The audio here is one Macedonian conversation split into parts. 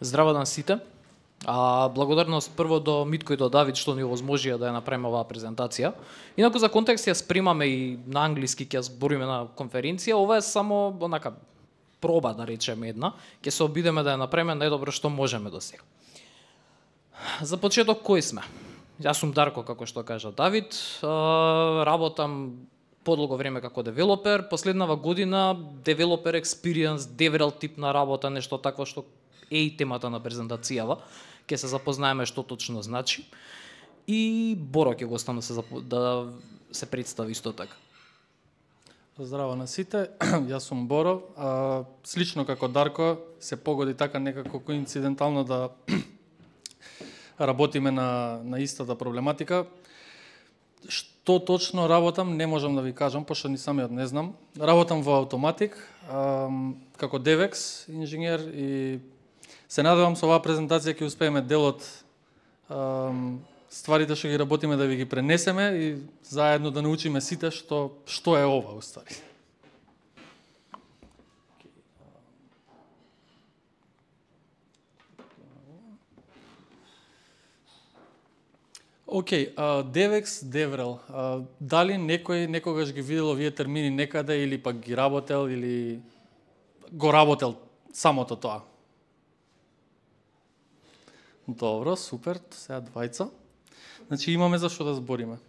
Здраво на сите. Благодарност прво до Митко и до Давид што ни овозможија да ја направиме оваа презентација. Инаку за контекст ја спремаме и на англиски ќе збориме на конференција. Ова е само онака проба, да речеме една. Ќе се обидеме да ја направиме најдобро што можеме до сега. За почеток кои сме? Јас сум Дарко, како што кажа Давид. Работам подолго време како девелопер. Последнава година девелопер experience, DevRel тип на работа, нешто такво што е и темата на презентацијава. Ќе се запознаеме што точно значи. И Боро ќе го оставам да се представи исто така. Здраво на сите, јас сум Боро. Слично како Дарко, се погоди така некако коинцидентално да работиме на истата проблематика. Што точно работам, не можам да ви кажам, пошто ни самиот не знам. Работам во Automatic, како DevEx инженер и се надевам со оваа презентација ќе успееме дел од стварите што ги работиме да ви ги пренесеме и заедно да научиме сите што е ова уствари. Океј, DevEx, DevRel. Дали некој некогаш ги видел овие термини некаде или пак ги работел или го работел самото тоа? Добро, супер, сега двајца. Значи имаме за што да збориме.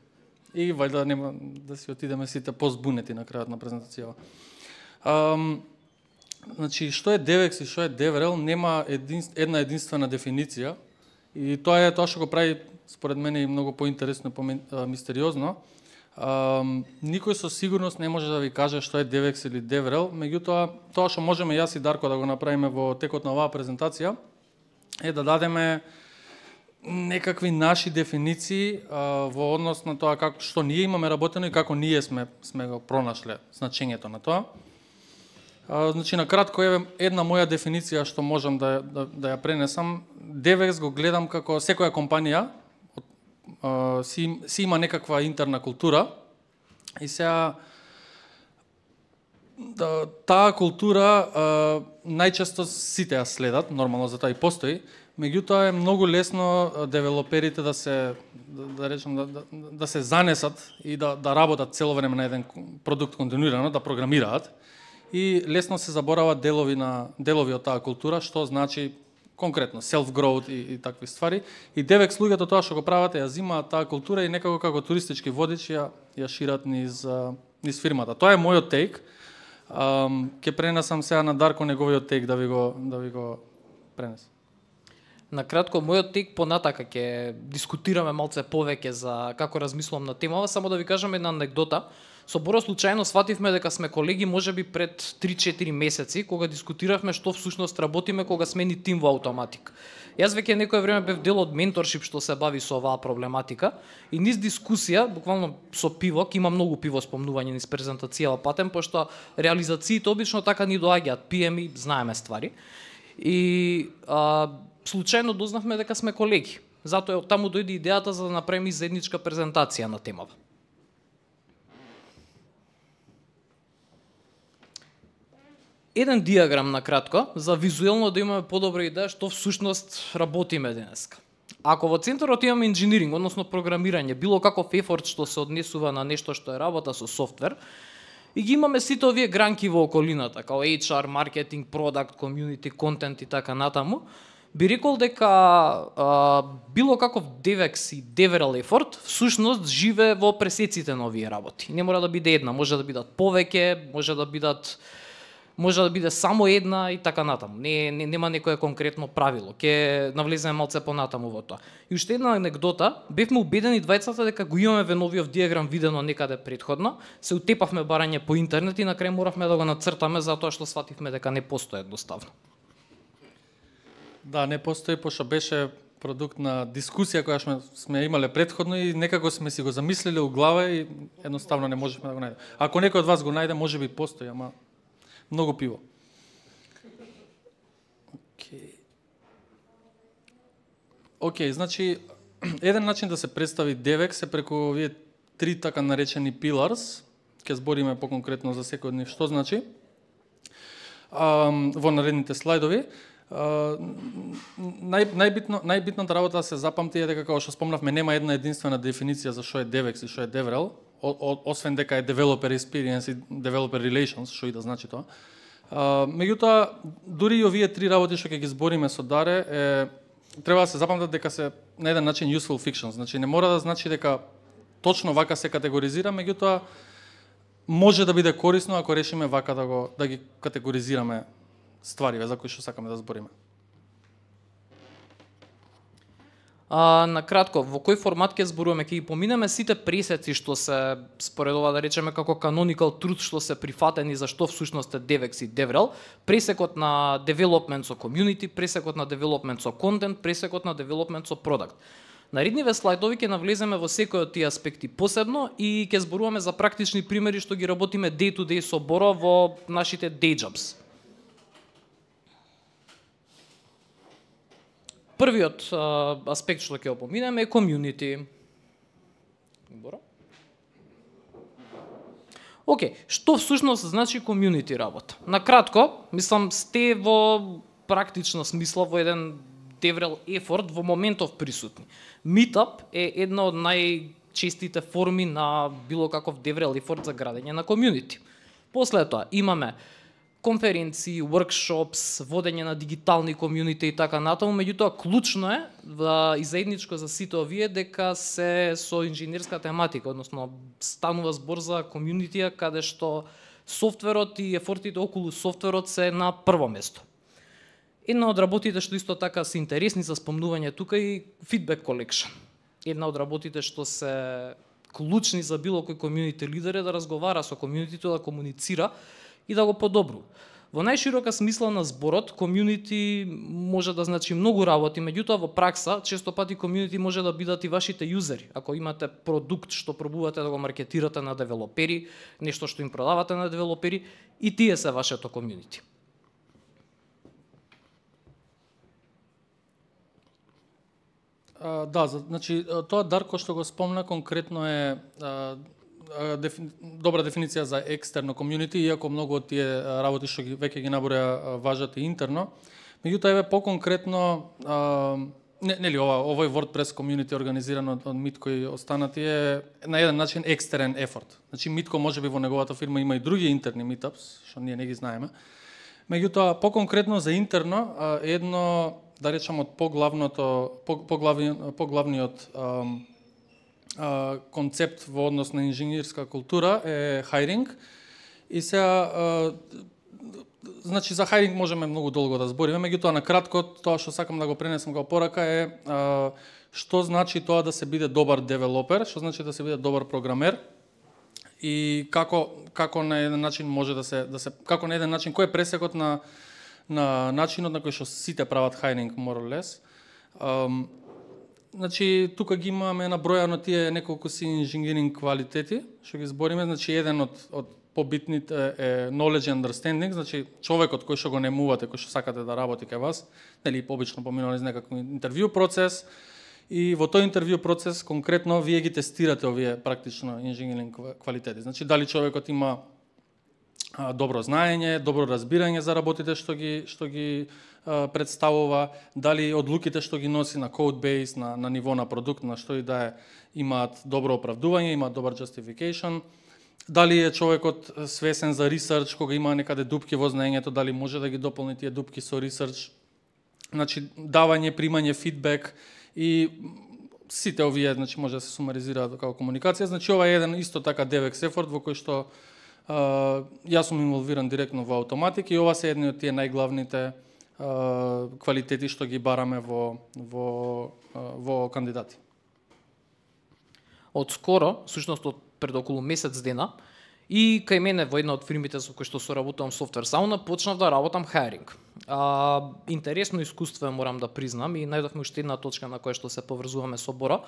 И вајда нема да си отидеме сите позбунети на крајот на презентацијава. Значи што е DevEx и што е DevRel нема една единствена дефиниција и тоа е тоа што го прави според мене и многу поинтересно и помистериозно. Никој со сигурност не може да ви каже што е DevEx или DevRel, меѓутоа тоа што можеме јас и Дарко да го направиме во текот на оваа презентација е да дадеме некакви наши дефиниции во однос на тоа како што ние имаме работено и како ние сме го пронашле значењето на тоа. Значи на кратко е една моја дефиниција што можам да ја пренесам. DevEx го гледам како секоја компанија си има некаква интерна култура и сега таа култура најчесто сите ја следат, нормално за тоа и постои, меѓутоа е многу лесно девелоперите да се да се занесат и да работат цело време на еден продукт континуирано, да програмираат и лесно се заборават делови од таа култура, што значи конкретно self-growth и такви ствари. И DevEx луѓето тоа што го прават ја зимаат таа култура и некако како туристички водич ја шират низ фирмата. Тоа е мојот тейк. Ќе пренесам сега на Дарко неговиот тейк да ви го пренесам. На кратко, мојот тек понатака ќе дискутираме малце повеќе за како размислувам на темава, само да ви кажам една анекдота. Со Боро случајно свативме дека сме колеги можеби пред 3-4 месеци, кога дискутиравме што всушност работиме кога смени тим во Automatic. Јас веќе некое време бев дел од менторшип што се бави со оваа проблематика и низ дискусија, буквално со пиво, ке има многу пиво спомнување низ презентацијава патем, пошто реализациите обично така ни доаѓаат, пиеме и знаеме ствари. И случајно дознавме дека сме колеги. Затоа од таму дојде идејата за да направиме заедничка презентација на темава. Еден диаграм на кратко, за визуелно да имаме подобра идеја што всушност работиме денеска. Ако во центарот имаме инженеринг, односно програмирање, било каков ефорт што се однесува на нешто што е работа со софтвер, и ги имаме сите овие гранки во околината, као HR, маркетинг, продакт, комјунити, контент и така натаму, би рекол дека било каков DevEx и DevRel ефорт всушност живе во пресеците на овие работи. Не мора да биде една, може да бидат повеќе, може да биде само една и така натаму. Нема некое конкретно правило. Ќе навлеземе малце понатаму во тоа. И уште една анекдота, бевме убедени двајцата дека го имаме веновиот диаграм видено некаде претходно, се утепавме барање по интернет и на крај моравме да го нацртаме затоа што свативме дека не постои едноставно. Да, не постои, пошто беше продукт на дискусија која сме имале претходно и некако сме си го замислиле у глава и едноставно не можевме да го најдеме. Ако некој од вас го најде, можеби постои, ама многу пиво. Океј, значи еден начин да се представи DevEx е преку овие три така наречени pillars. Ќе збориме поконкретно за секој од нив што значи. Во наредните слайдови. најбитната работа да се запамти е дека, како што спомнавме, нема една единствена дефиниција за што е DevEx и што е DevRel, освен дека е Developer Experience и Developer Relations, што и да значи тоа. Меѓутоа, дури и овие три работи што ќе ги збориме со Даре, треба да се запамтат дека се на еден начин useful fiction. Значи, не мора да значи дека точно вака се категоризира, меѓутоа, може да биде корисно ако решиме вака да ги категоризираме ствариве за кои што сакаме да збориме. На кратко, во кој формат ќе зборуваме? Ќе ги поминеме сите пресеци што се според ова да речеме како canonical truth што се прифатени за што всушност е DevEx и DevRel, пресекот на development со community, пресекот на development со content, пресекот на development со product. Наредниве слайдови ќе навлеземе во секој од тие аспекти посебно и ќе зборуваме за практични примери што ги работиме day to day со Боро во нашите day jobs. Првиот аспект што ќе опоминеме е community. Боро? Океј, што всушност значи community работа? На кратко, мислам сте во практична смисла во еден DevRel effort во моментов присутни. Meetup е една од најчестите форми на било каков DevRel effort за градење на community. После тоа имаме конференции, workshops, водење на дигитални комјунити и така натаму, меѓутоа клучно е и заедничко за сите овие дека се со инженерска тематика, односно станува збор за комјунитија каде што софтверот и ефортите околу софтверот се на прво место. Една од работите што исто така се интересни за спомнување тука и feedback collection. Една од работите што се клучни за било кој комјунити лидер е да разговара со комјунитито, да комуницира и да го подобрува. Во најширока смисла на зборот, комјунити може да значи многу работи, меѓутоа во пракса, често пати комјунити може да бидат и вашите јузери. Ако имате продукт што пробувате да го маркетирате на девелопери, нешто што им продавате на девелопери, и тие се вашето комјунити. Да, значи тоа Дарко што го спомна конкретно е добра дефиниција за екстерно комјунити, иако многу од тие работи што веќе ги наброја важат и интерно. Меѓутоа еве поконкретно нели овој WordPress комјунити организиран од Митко и останати е на еден начин екстерен ефорт. Значи Митко можеби во неговата фирма има и други интерни meetups што ние не ги знаеме. Меѓутоа поконкретно за интерно едно да речам од поглавниот концепт во однос на инженерска култура е хайринг. И сега значи за хайринг можеме многу долго да збориме, меѓутоа на кратко тоа што сакам да го пренесам како порака е што значи тоа да се биде добар девелопер, што значи да се биде добар програмер и како на еден начин може да се како на еден начин кој е пресекот на начинот на кој што сите прават хайринг more or less. Значи тука ги имаме набројано тие неколку си инженеринг квалитети што ги збориме, значи еден од побитните е knowledge and understanding, значи човекот кој што го немувате, кој што сакате да работи кај вас, нели обично поминува низ некаков интервју процес и во тој интервју процес конкретно вие ги тестирате овие практично инженеринг квалитети. Значи дали човекот има добро знаење, добро разбирање за работите што ги представува, дали одлуките што ги носи на code base, на ниво на продукт, на што и да е, имаат добро оправдување, имаат добар justification, дали е човекот свесен за research, кога има некаде дупки во знаењето, дали може да ги дополни тие дупки со research, значи давање, примање фидбек и сите овие, значи може да се сумаризираат како комуникација. Значи ова е еден исто така DevEx effort во кој што јас сум инволвиран директно во автоматик и ова се едни од тие најглавните квалитети што ги бараме во кандидати. Од скоро, всушност од пред околу месец дена, и кај мене во една од фирмите со кои што соработувам Software Sauna, почнав да работам хайринг. Интересно искуство морам да признам и најдовме уште една точка на која што се поврзуваме со Боро.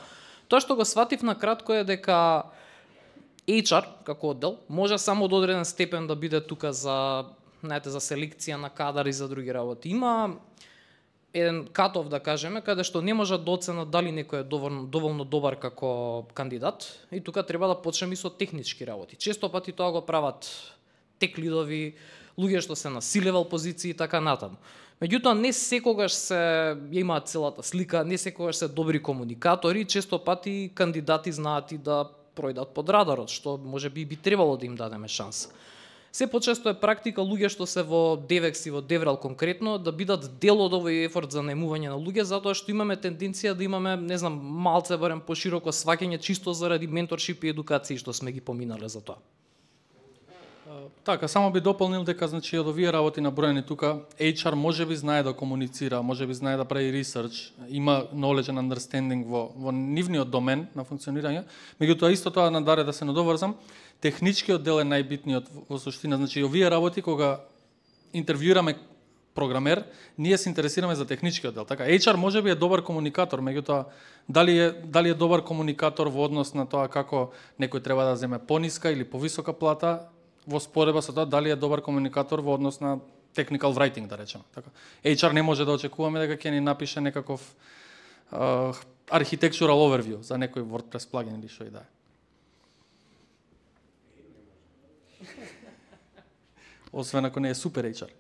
Тоа што го сватив на кратко е дека HR како оддел може само до одреден степен да биде тука за селекција на кадар и за други работи. Има еден катов, да кажеме, каде што не може да оценат дали некој е доволно добар како кандидат и тука треба да почнеме и со технички работи. Често пати тоа го прават тек лидови, луѓе што се на C-level позиции и така натаму. Меѓутоа, не секогаш се имаат целата слика, не секогаш се добри комуникатори, често пати кандидати знаат и да пројдат под радарот, што можеби би требало да им дадеме шанса. Се почесто е практика луѓе што се во DevEx и во DevRel конкретно да бидат дел од овој ефорт за наемување на луѓе, затоа што имаме тенденција да имаме, не знам, малце барем пошироко сваќање чисто заради менторшип и едукација што сме ги поминале за тоа. Така, само би дополнил дека значи од овие работи наброени тука, HR можеби знае да комуницира, можеби знае да прави ресерч, има knowledge and understanding во нивниот домен на функционирање, меѓутоа исто тоа надаре да се надоврзам, техничкиот дел е најбитниот во суштина, значи овие работи кога интервјуираме програмер, ние се интересираме за техничкиот дел. Така, HR можеби е добар комуникатор, меѓутоа дали е добар комуникатор во однос на тоа како некој треба да земе пониска или повисока плата, во споредба со тоа дали е добар комуникатор во однос на technical writing, да речеме. Така, HR не може да очекуваме дека ќе ни напише некаков architectural overview за некој WordPress плагин или што и да е. Освен ако не е супер HR.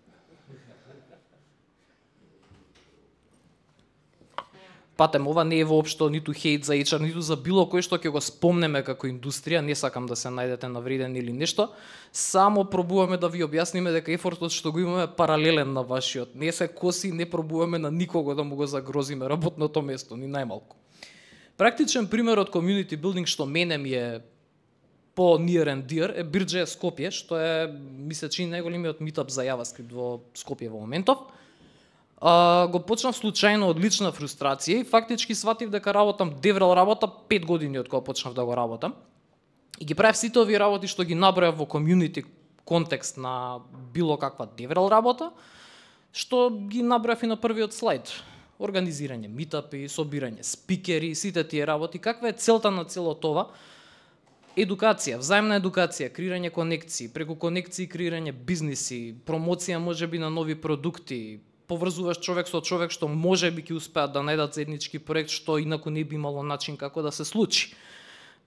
Патем, ова не е воопшто ниту хейт за HR, ниту за било кој што ќе го спомнеме како индустрија, не сакам да се најдете навредени или нешто, само пробуваме да ви објасниме дека ефортот што го имаме е паралелен на вашиот. Не се коси, не пробуваме на никого да му го загрозиме работното место, ни најмалку. Практичен пример од community building што мене ми е по near and dear е Bridge.js Скопје, што е, ми се чини, најголемиот meetup за JavaScript во Скопје во моментов. Го почнав случајно од лична фрустрација и фактички сватив дека работам DevRel работа 5 години од кога почнав да го работам. И ги правев сите овие работи што ги набројав во community контекст на било каква DevRel работа, што ги набројав и на првиот слайд. Организирање митапи, собирање спикери, сите тие работи. Каква е целта на цело това? Едукација, взаимна едукација, креирање конекции, преку конекции креирање бизниси, промоција можеби на нови продукти, поврзуваш човек со човек што можеби ќе успеат да најдат заеднички проект што инаку не би имало начин како да се случи.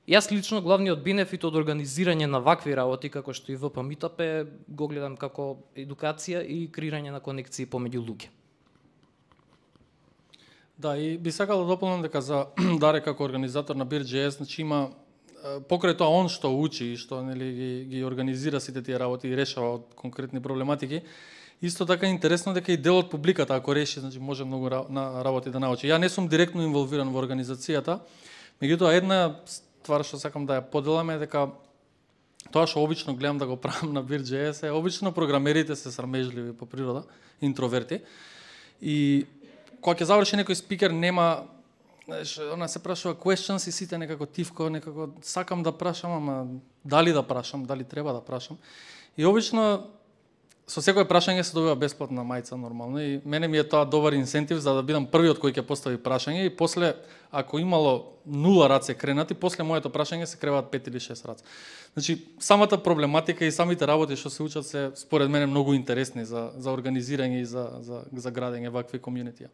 Јас лично главниот бенефит од организирање на вакви работи како што и ВП Meetup е го гледам како едукација и креирање на конекции помеѓу луѓе. Да, и би сакал да дополнам дека за Даре како организатор на Bridge.js, значи има покрај тоа он што учи и што нели ги организира сите тие работи и решава од конкретни проблематики, исто така е интересно дека и дел од публиката ако реши, значи може многу на работи да научи. Ја не сум директно инволвиран во организацијата, меѓутоа една ствар што сакам да ја поделам е дека тоа што обично гледам да го правам на Bridge.js е обично програмерите се срамежливи по природа, интроверти. И кога ќе заврши некој спикер нема, знаеш, она се прашува questions и сите некако тивко, некако сакам да прашам, ама дали да прашам, дали треба да прашам. И обично со секое прашање се добива бесплатна мајца нормално и мене ми е тоа добар инсентив за да бидам првиот кој ќе постави прашање и после ако имало 0 раце кренати, после моето прашање се креваат 5 или 6 раце. Значи самата проблематика и самите работи што се учат се според мене многу интересни за организирање и за градење вакви комјунитија.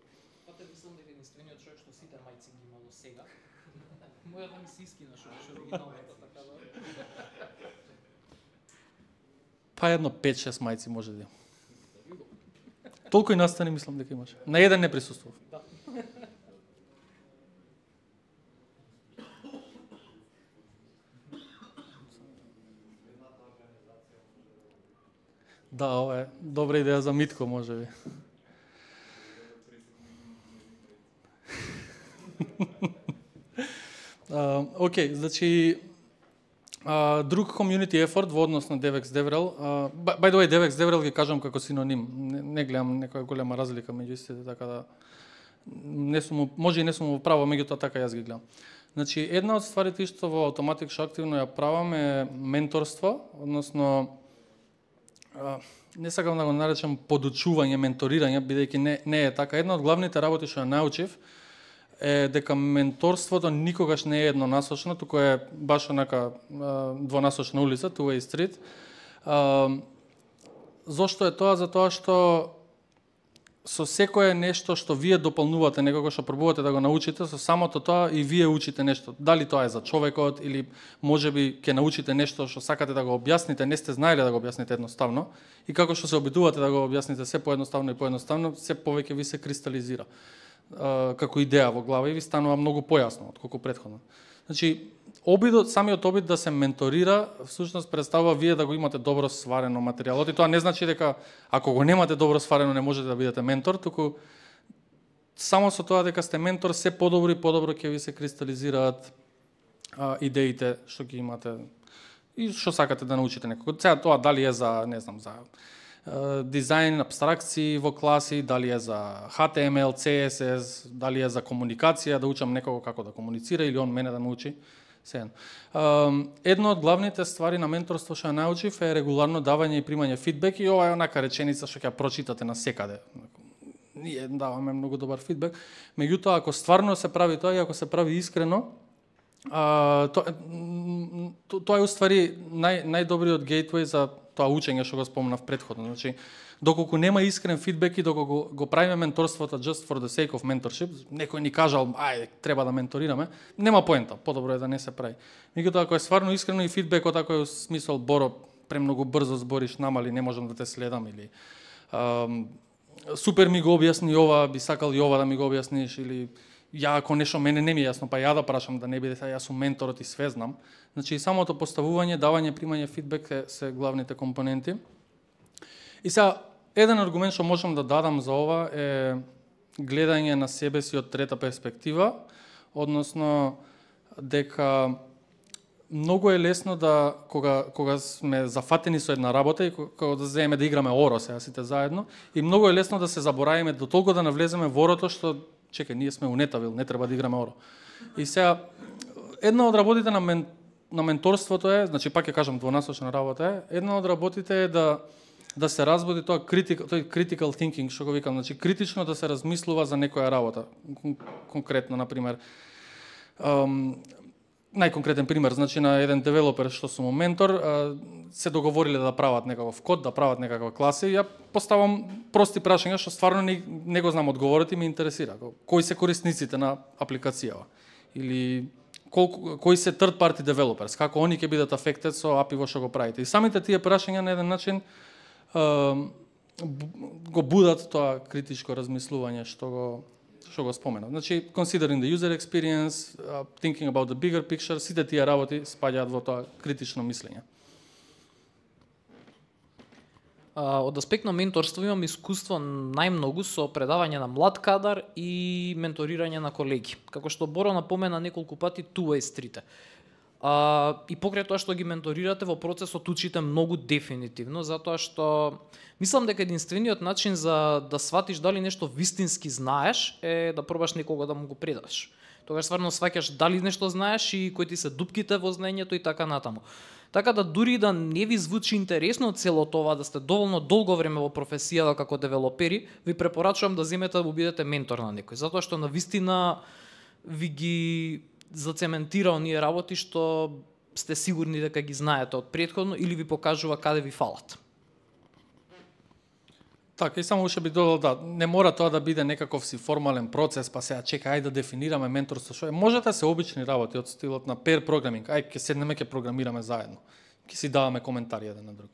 Пате мислам дека единствениот човек што сите мајци ги имало сега. Мојата ми се искина што беше оригиналната така да. Па едно 5-6 мајци може да. Толку и настани мислам дека имаше. На еден не присуствував. Да. Да, ова е добра идеја за Митко, можеби. Океј, значи друг community effort во однос на DevEx DevRel. By the way, DevEx DevRel ги кажам како синоним. Не гледам некоја голема разлика меѓу истите, така да не сум, може и не сум во право, меѓутоа така јас ги гледам. Значи, една од стварите што во Automattic што активно ја правам е менторство, односно не сакам да го наречам подучување, менторирање, бидејќи не е така. Една од главните работи што ја научив е дека менторството никогаш не е еднонасочно, туку е баш онака двонасочна улица, two-way street. Зошто е тоа? Затоа што со секое нешто што вие дополнувате, некако што пробувате да го научите, со самото тоа и вие учите нешто. Дали тоа е за човекот или можеби ќе научите нешто што сакате да го објасните, не сте знаеле да го објасните едноставно, и како што се обидувате да го објасните се поедноставно и поедноставно, се повеќе ви се кристализира како идеја во глава и ви станува многу појасно отколку претходно. Значи, самиот обид да се менторира, всушност представува вие да го имате добро сварено материјалот, и тоа не значи дека ако го немате добро сварено не можете да бидете ментор, туку само со тоа дека сте ментор се подобро и подобро ќе ви се кристализираат идеите што ги имате и што сакате да научите некако. Сега тоа дали е за, не знам, за дизајн, абстракции во класи, дали е за HTML, CSS, дали е за комуникација, да учам некого како да комуницира или он мене да научи. Едно од главните ствари на менторство што ја научив е регуларно давање и примање фидбек, и ова е онака реченица што ќе ја прочитате на секаде. Ние даваме многу добар фидбек, меѓутоа ако стварно се прави тоа и ако се прави искрено, тоа е уствари најдобриот гейтвеј за тоа учење што го спомнав претходно. Значи, доколку нема искрен фидбек и доколку го правиме менторството just for the sake of mentorship, некој ни кажал, ајде, треба да менторираме, нема поента, подобро е да не се прави. Меѓутоа, ако е стварно искрено и фидбекот, ако е смисол, Боро, премногу брзо збориш, намали, не можам да те следам, или супер ми го објасни ова, би сакал и ова да ми го објасниш, или ја ако нешто мене не ми е јасно, па ја да прашам да не биде сега јас сум менторот и све знам. Значи, самото поставување, давање, примање фидбек се главните компоненти. И сега, еден аргумент што можам да дадам за ова е гледање на себе си од трета перспектива, односно дека многу е лесно да кога сме зафатени со една работа и кога да земеме да играме оро сега сите заедно, и многу е лесно да се заборавиме до толку да навлеземе во орото што чекај, ние сме у Нетавил, не треба да играме оро. И сега една од работите на менторството е, значи пак ќе кажам двонасочна работа е, една од работите е да се разбуди тој critical thinking, што го викам, значи критично да се размислува за некоја работа. Конкретно, например, најконкретен пример, значи на еден девелопер што сум ментор, се договориле да прават некаков код, да прават некаква класа, и ја поставам прости прашања што стварно не го знам одговорот и ме интересира. Кои се корисниците на апликацијава? Или кои се third party developers, како они ќе бидат affected со API во што го правите? И самите тие прашања на еден начин го будат тоа критичко размислување што го споменав. Значи, considering the user experience, thinking about the bigger picture, сите тие работи спаѓаат во тоа критично мислење. Од аспект на менторство имам искуство најмногу со предавање на млад кадар и менторирање на колеги. Како што Боро напомена неколку пати, two-way street. И покрај тоа што ги менторирате во процесот учите многу дефинитивно, затоа што мислам дека единствениот начин за да сватиш дали нешто вистински знаеш е да пробаш некого да му го предаш. Тогаш стварно сваќаш дали нешто знаеш и кои ти се дупките во знаењето и така натаму. Така да дури да не ви звучи интересно цело тоа, да сте доволно долго време во професијата како девелопери, ви препорачувам да земете да бидете ментор на некој, затоа што навистина ви ги зацементира оние работи што сте сигурни дека ги знаете од претходно или ви покажува каде ви фалат. Така, и само уште би додал, да, не мора тоа да биде некаков си формален процес, па сега чека, ајде да дефинираме менторство, што е. Можете да се обични работи од стилот на pair programming, ајде ќе седнеме, ќе програмираме заедно, ќе си даваме коментари еден на друг.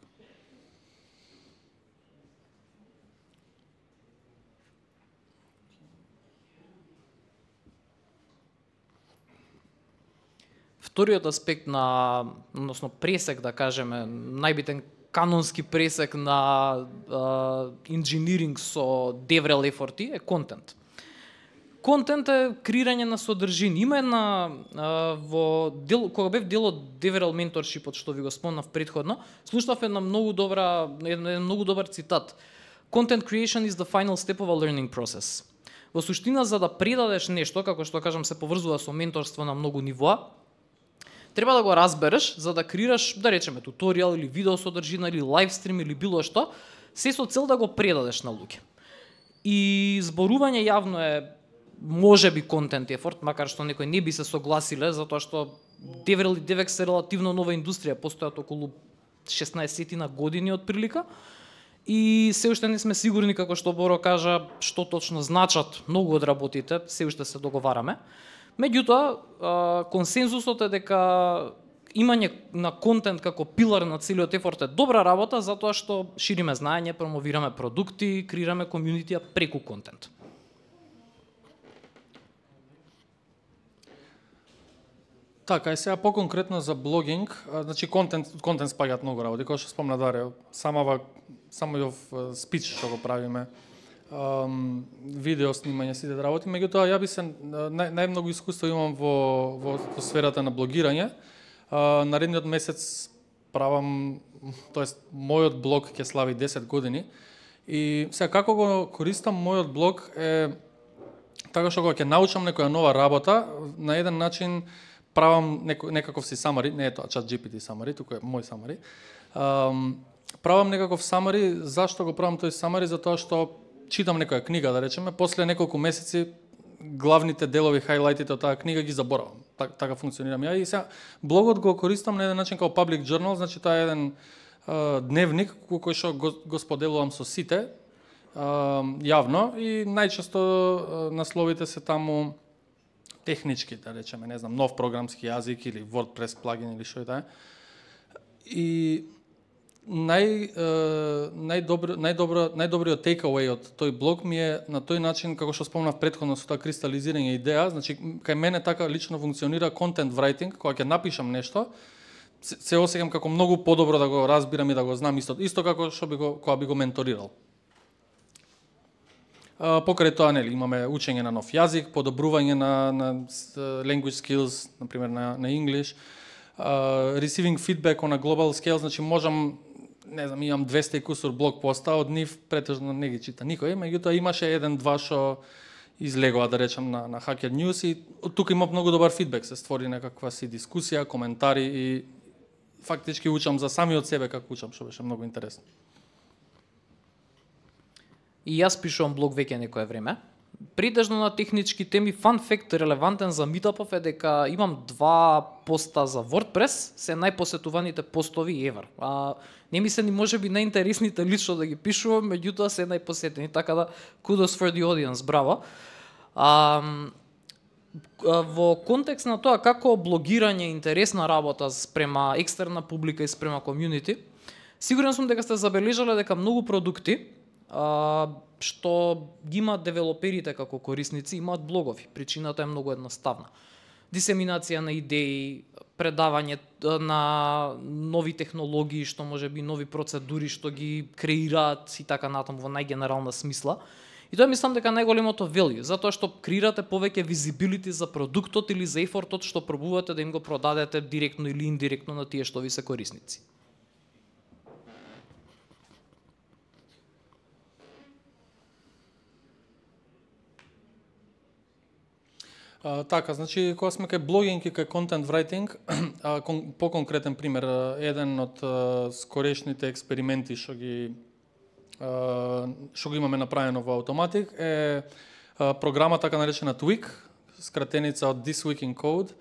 Вториот аспект на, односно пресек, да кажеме, најбитен канонски пресек на инжиниринг со DevRel ефорти е контент. Контент е креирање на содржини. Има една кога бев дел од DevRel менторшипот што ви го спомнав претходно, слушнав еден многу добар цитат. Content creation is the final step of a learning process. Во суштина, за да предадеш нешто, како што кажам се поврзува со менторство на многу нивоа, треба да го разбереш за да креираш, да речеме, туторијал или видео содржина или лайвстрим или било што, се со цел да го предадеш на луѓе. И зборување јавно е можеби контент ефорт, макар што некои не би се согласиле, затоа што DevRel и DevEx е релативно нова индустрија, постојат околу 16 години од прилика. и се уште не сме сигурни, како што Боро кажа, што точно значат многу од работите, се уште се договараме. Меѓутоа, консензусот е дека имање на контент како пилар на целиот ефорт е добра работа, затоа што шириме знаење, промовираме продукти, креираме комјунитија преку контент. Така, и сега по-конкретно за блогинг, значи контент спаѓаат многу работи, кој што спомна Даре, самиот спич што го правиме, видео снимање, сите работи, меѓутоа ја би се најмногу искуство имам во сферата на блогирање. Наредниот месец правам, тоест мојот блог ќе слави 10 години и сега како го користам мојот блог е така што кога ќе научам некоја нова работа, на еден начин правам некаков си summary, не е тоа ChatGPT summary, туку е мој summary. Правам некаков summary, зашто го правам тој summary? Затоа што читам некоја книга, да речеме, после неколку месеци главните делови, хайлайтите од таа книга ги заборавам. Така функционирам ја и сега блогот го користам на еден начин како public journal, значи тоа е еден дневник кој што го споделувам со сите јавно и најчесто насловите се таму технички, да речеме, не знам, нов програмски јазик или WordPress плагин или што е таа. И најдобриот takeaway од тој блог ми е на тој начин, како што спомнав претходно со тоа кристализирање идеја, значи кај мене така лично функционира content writing, кога ќе напишам нешто, се осеќам како многу подобро да го разбирам и да го знам исто како што кога би го менторирал. Покрај тоа, нели, имаме учење на нов јазик, подобрување на language skills, например на English, receiving feedback on a global scale, значи можам, не знам, имам 200 и кусур блог поста, од нив претежно не ги чита никој, меѓутоа имаше еден-два што излегува, да речам, на Hacker News и тука има многу добар фидбек, се створи некаква си дискусија, коментари и фактички учам за самиот себе како учам, што беше многу интересно. И јас пишувам блог веќе некое време. Претежно на технички теми. Fun fact релевантен за Meetup е дека имам 2 поста за WordPress, се најпосетуваните постови ever. Не ми се ни можеби најинтересните лично да ги пишувам, меѓутоа се најпосетени, така да kudos for the audience, браво. Во контекст на тоа како блогирање е интересна работа спрема екстерна публика и спрема комјунити, сигурен сум дека сте забележале дека многу продукти што ги имаат девелоперите како корисници, имаат блогови. Причината е многу едноставна. Дисеминација на идеи, предавање на нови технологии, што можеби нови процедури што ги креираат и така натаму во најгенерална смисла. И тоа мислам дека најголемото value, затоа што креирате повеќе visibility за продуктот или за ефортот што пробувате да им го продадете директно или индиректно на тие што ви се корисници. Така, значи, кога сме кај блогинг и кај content writing, по-конкретен пример, еден од скорешните експерименти што го имаме направено во Automattic е програма така наречена Tweak, скратеница од This Week in Code.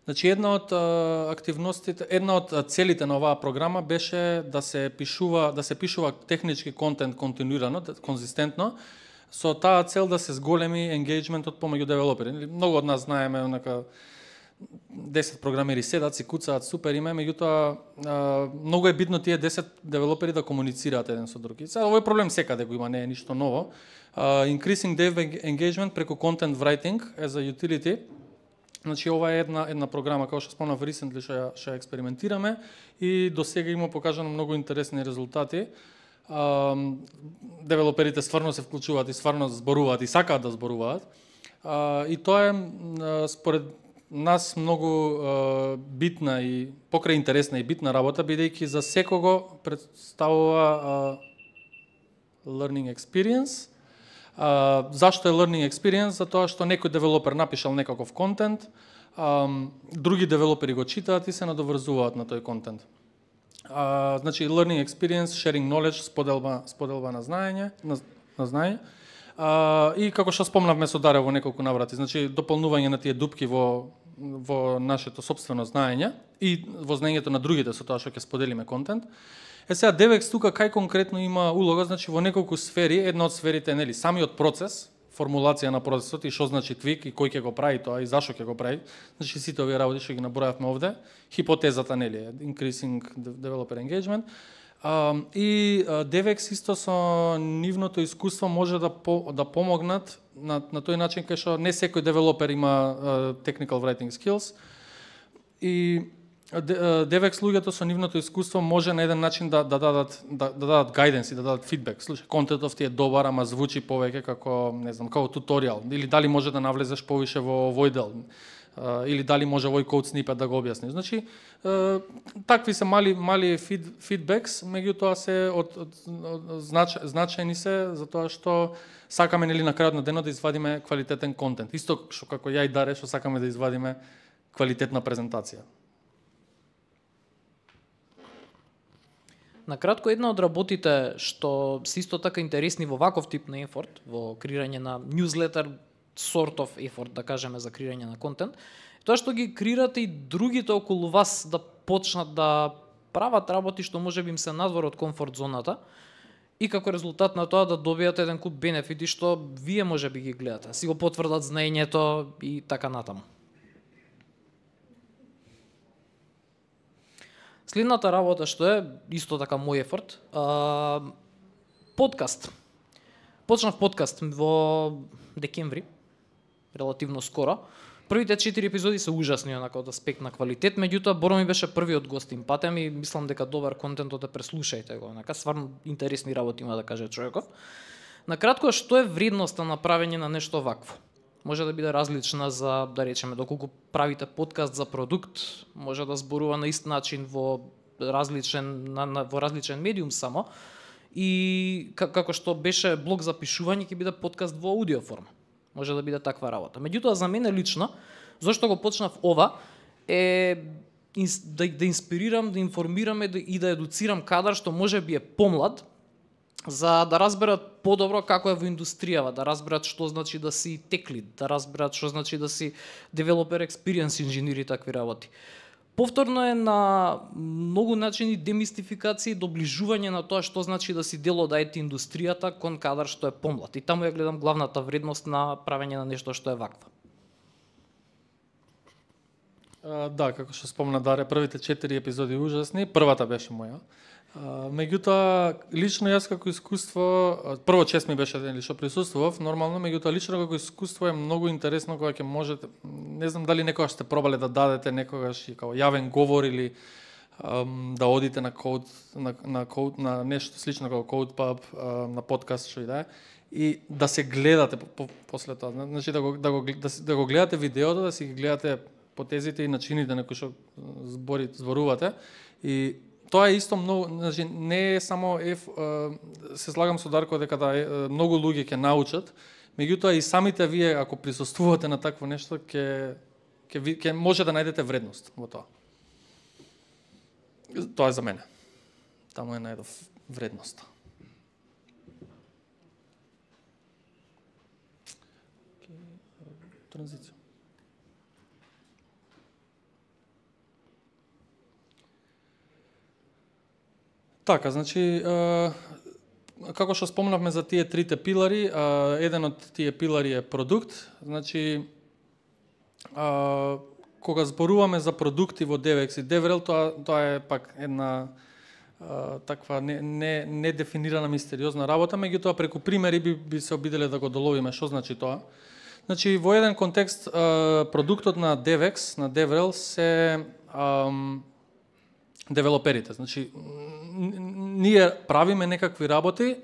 Значи, една од активностите, една од целите на оваа програма беше да се пишува технички контент континуирано, конзистентно, со таа цел да се зголеми енгејџментот помеѓу девелопери. Многу од нас знаеме, онака 10 програмери седат, си куцаат, супер име, меѓутоа многу е битно тие 10 девелопери да комуницираат еден со друг. Сега овој проблем секаде го има, не е ништо ново. Increasing dev engagement преку content writing as a utility. Значи ова е една програма како што спомнав recently што ја експериментираме и досега има покажано многу интересни резултати. Девелоперите стварно се вклучуваат и стварно зборуваат и сакаат да зборуваат. И тоа е според нас многу битна и покрај интересна и битна работа, бидејќи за секого представува learning experience. Зашто е learning experience? Затоа што некој девелопер напишал некаков контент, други девелопери го читаат и се надоврзуваат на тој контент. Значи learning experience, sharing knowledge, споделба на знаење, и како што спомнавме со Даре во неколку наврати, значи дополнување на тие дупки во нашето сопствено знаење и во знаењето на другите со тоа што ќе споделиме контент. Сега DevX тука кај конкретно има улога, значи во неколку сфери, една од сферите нели самиот процес, формулација на процесот и што значи твик и кој ќе го прави тоа и зашо ќе го прави. Значи сите овие работи што ги набројавме овде, хипотезата нели increasing developer engagement. И DevX исто со нивното искуство може да помогнат на тој начин кај што не секој девелопер има technical writing skills и DevX луѓето со нивното искуство може на еден начин да дадат guidance и да дадат фидбек. Слушај, контентот ти е добар, ама звучи повеќе како, не знам, како туторијал, или дали може да навлезеш повише во овој дел, или дали може овој код снипет да го објасни. Значи, такви се мали фидбекс, меѓутоа се значајни се затоа што сакаме нели на крајот на денот да извадиме квалитетен контент. Исто што како ја и Даре што сакаме да извадиме квалитетна презентација. На кратко, една од работите што се исто така интересни во ваков тип на ефорт, во креирање на newsletter, sort of effort, да кажеме, за креирање на контент, тоа што ги креирате и другите околу вас да почнат да прават работи што можеби им се надвор од комфорт зоната и како резултат на тоа да добијат еден куп бенефити што вие можеби ги гледате, си го потврдат знаењето и така натаму. Следната работа што е исто така мој ефорт, подкаст. Почнав подкаст во декември, релативно скоро. Првите 4 епизоди се ужасни онака од аспект на квалитет, меѓутоа Боро ми беше првиот гост им патем и мислам дека добар контентот е, преслушајте го, онака стварно интересни работи има да каже човеков. На кратко, што е вредноста на правење на нешто вакво? Може да биде различна за, да речеме, доколку правите подкаст за продукт, може да зборува на ист начин во различен медиум само, и како што беше блог за пишување, ќе биде подкаст во аудио форма. Може да биде таква работа. Меѓутоа, за мене лично, зашто го почнав ова, е да инспирирам, да информирам и да едуцирам кадар што може би е помлад, за да разберат подобро како е во индустријава, да разберат што значи да си tech lead, да разберат што значи да си developer experience инженер и такви работи. Повторно е на многу начини демистификација и доближување на тоа што значи да си дел од IT индустријата кон кадар што е помлад. И таму ја гледам главната вредност на правење на нешто што е вакво. Да, како што спомна Даре, првите 4 епизоди ужасни, првата беше моја. Меѓутоа, лично јас како искуство, прво чест ми беше ден што присуствував, нормално, меѓутоа лично како искуство е многу интересно кога ќе можете, не знам дали некогаш сте пробале да дадете некогаш и како јавен говор или да одите на код, на нешто слично како CodePub, на подкаст што и да е, и да се гледате после тоа, значи да го гледате видеото, да си ги гледате потезите и начините на кои што зборувате и тоа е исто многу, значи не е само се слагам со Дарко дека многу луѓе ќе научат, меѓутоа и самите вие ако присуствувате на такво нешто ќе може да најдете вредност во тоа. Тоа е за мене. Таму е најдов вредност. Транзиција. Така, значи, како што спомнавме за тие трите пилари, еден од тие пилари е продукт. Значи, кога зборуваме за продукти во DevX и DevRel, тоа е пак една таква недефинирана мистериозна работа, меѓутоа преку примери би се обиделе да го доловиме што значи тоа. Значи, во еден контекст, продуктот на DevX, на DevRel се девелоперите. Значи, ние правиме некакви работи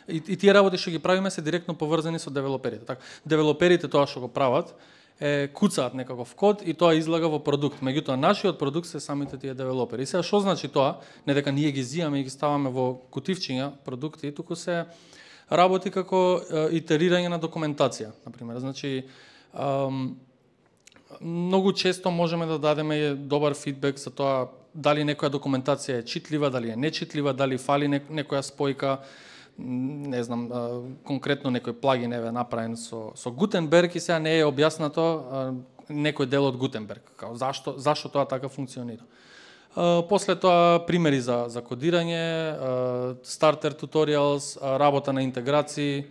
и тие работи што ги правиме се директно поврзани со девелоперите. Така, девелоперите тоа што го прават куцаат некаков код и тоа излага во продукт. Меѓутоа, нашиот продукт се самите тие девелопери. И сега што значи тоа? Не дека ние ги зимаме и ги ставаме во кутивчиња продукти, туку се работи како итерирање на документација, например. Значи, многу често можеме да дадеме добар фидбек за тоа дали некоја документација е читлива, дали е нечитлива, дали фали некоја спојка, не знам, конкретно некој плагин е направен со Гутенберг и сега не е објаснато некој дел од Гутенберг, зашто тоа така функционира. После тоа примери за кодирање, стартер туториалс, работа на интеграции,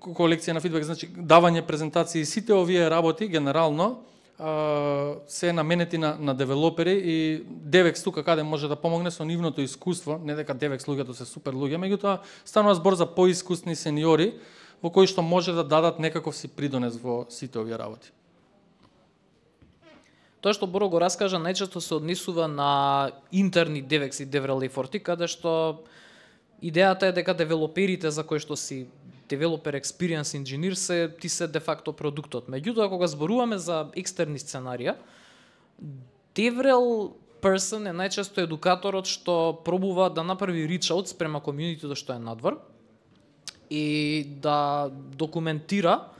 колекција на фидбек, значи давање презентации, сите овие работи генерално се наменети на девелопери и DevEx тука каде може да помогне со нивното искуство, не дека DevEx луѓето се супер луѓе, меѓутоа станува збор за поискусни сениори во кои што може да дадат некаков си придонес во сите овие работи. Тоа што Боро го раскажа најчесто се однесува на интерни DevEx и DevRel ефорти, каде што идејата е дека девелоперите за кои што си Developer Experience Engineer ти се де факто продуктот. Меѓутоа, кога зборуваме за екстерни сценарија, DevRel person е најчесто едукаторот што пробува да направи reach out спрема комјунитито што е надвор и да документира,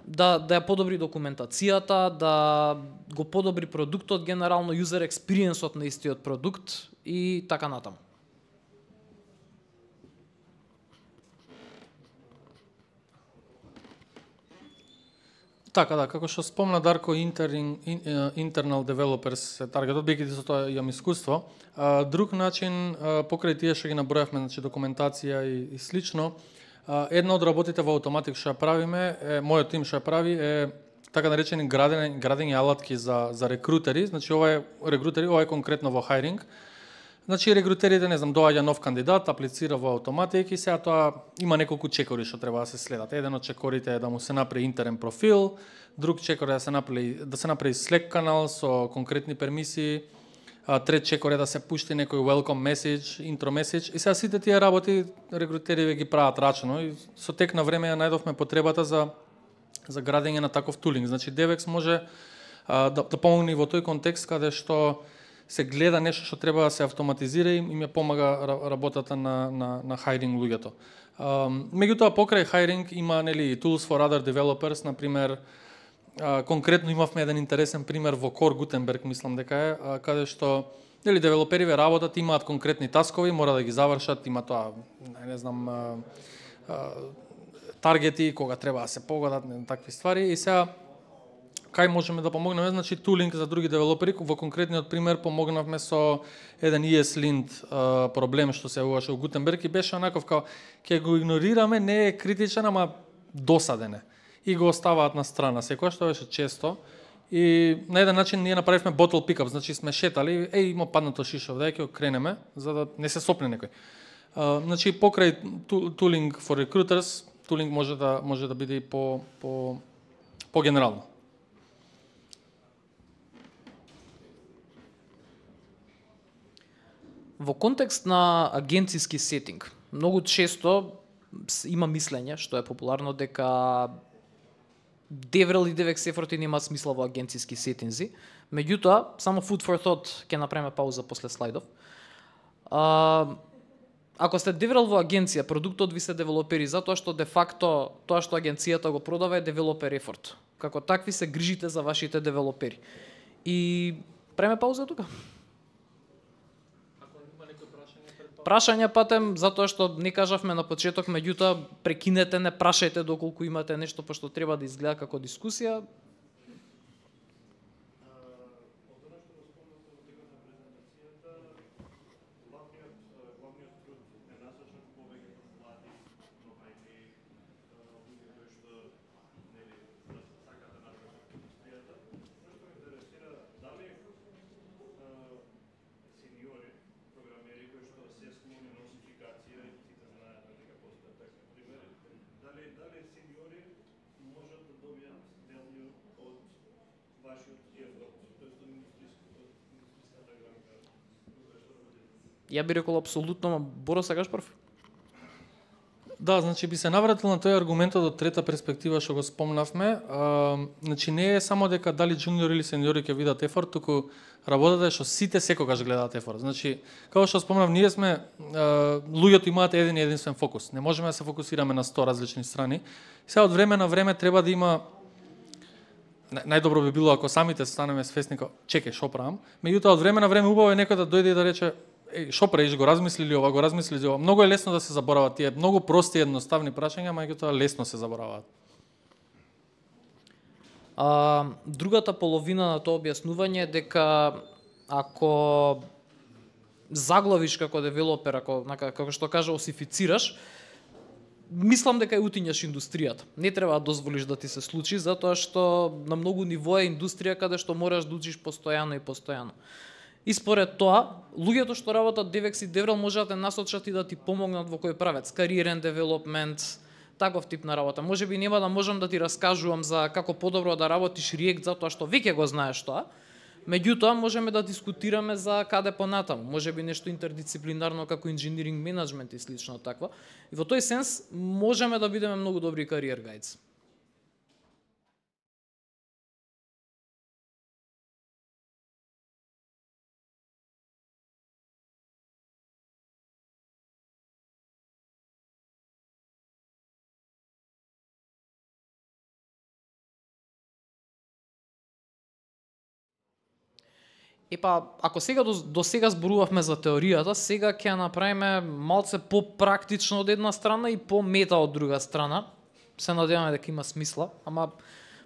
да ја подобри документацијата, да го подобри продуктот, генерално user experience-от на истиот продукт и така натаму. Така да, како што спомна Дарко, internal developers се таргетот, бидејќи со тоа имам искуство. Друг начин, покрај тие што ги набројавме, значи документација и слично, една од работите во Automattic што ја правиме, мојот тим што ја прави е така наречени градење алатки за рекрутери, значи ова е конкретно во хайринг. Значи рекрутерите, не знам, доаѓа нов кандидат, аплицира во Automattic и сега тоа има неколку чекори што треба да се следат. Еден од чекорите е да му се направи интерен профил, друг чекор е да се направи Slack канал со конкретни пермисии, трет чекор е да се пушти некој welcome message, intro message и сега сите тие работи рекрутерите ги прават рачно и со тек на време ја најдовме потребата за градење на таков тулинг. Значи DevEx може да помогне и во тој контекст каде што се гледа нешто што треба да се автоматизира и им ја помага работата на хайринг луѓето. Меѓутоа покрај хайринг има tools for other developers, на пример конкретно имавме еден интересен пример во Core Gutenberg, мислам дека е, каде што девелопериве работат, имаат конкретни таскови, мора да ги завршат, има тоа, не знам, таргети кога треба да се погодат, такви ствари и сега кај можеме да помогнеме, значи тулинг за други девелопери. Во конкретниот пример помогнавме со еден ESLint проблем што се јавуваше во Gutenberg и беше онаков као ќе го игнорираме, не е критичен, ама досаден е. И го оставаат на страна. Секој што беше често и на еден начин ние направивме bottle pickup, значи сме шетали, има паднато шишо, дај ќе го кренеме за да не се сопне некој. Значи покрај tooling for recruiters, tooling може да биде и по генерално. Во контекст на агенциски сетинг, многу често има мислење, што е популарно, дека DevRel и DevEx ефорти нема смисла во агенциски сетинзи. Меѓутоа, само food for thought, ќе направиме пауза после слайдов. Ако сте DevRel во агенција, продуктот ви се девелопери затоа што де факто тоа што агенцијата го продава е девелопер ефорт. Како такви се грижите за вашите девелопери. И правиме пауза тука. Прашања патем, затоа што не кажавме на почеток, меѓутоа прекинете, не прашајте доколку имате нешто пошто треба да изгледа како дискусија. Ја би рекол апсолутно, Боро, сакаш прв? Да, значи би се навратил на тој аргументот од трета перспектива што го спомнавме. Значи не е само дека дали джуниори или сениори ќе видат ефорт, туку работата е што сите секогаш гледаат ефорт. Значи, како што спомнав, ние сме луѓето имаат еден и единствен фокус. Не можеме да се фокусираме на 100 различни страни. Сега од време на време треба да има најдобро би било ако самите станеме свесни како чекај што правам. Меѓутоа од време на време убаво е некој да дојде и да рече што правиш, го размислили ова, го размислили ова. Многу е лесно да се заборават тие многу прости едноставни прашања, меѓутоа лесно се забораваат. Другата половина на тоа објаснување е дека ако заглавиш како девелопер, како што кажа, осифицираш, мислам дека утињаш индустријата. Не треба да дозволиш да ти се случи, затоа што на многу ниво е индустрија каде што мораш да учиш постојано и постојано. И според тоа, луѓето што работат DevEx и DevRel може да те насочат и да ти помогнат во кој правец, кариерен девелопмент, таков тип на работа. Можеби нема да можам да ти раскажувам за како подобро да работиш React затоа што веќе го знаеш тоа. Меѓутоа, можеме да дискутираме за каде понатаму. Можеби нешто интердисциплинарно како инженеринг менеджмент и слично такво. И во тој сенс можеме да бидеме многу добри кариер гајдс. Епа, ако сега до сега зборувавме за теоријата, сега ќе направиме малце попрактично од една страна и по-мета од друга страна. Се надеваме дека има смисла, ама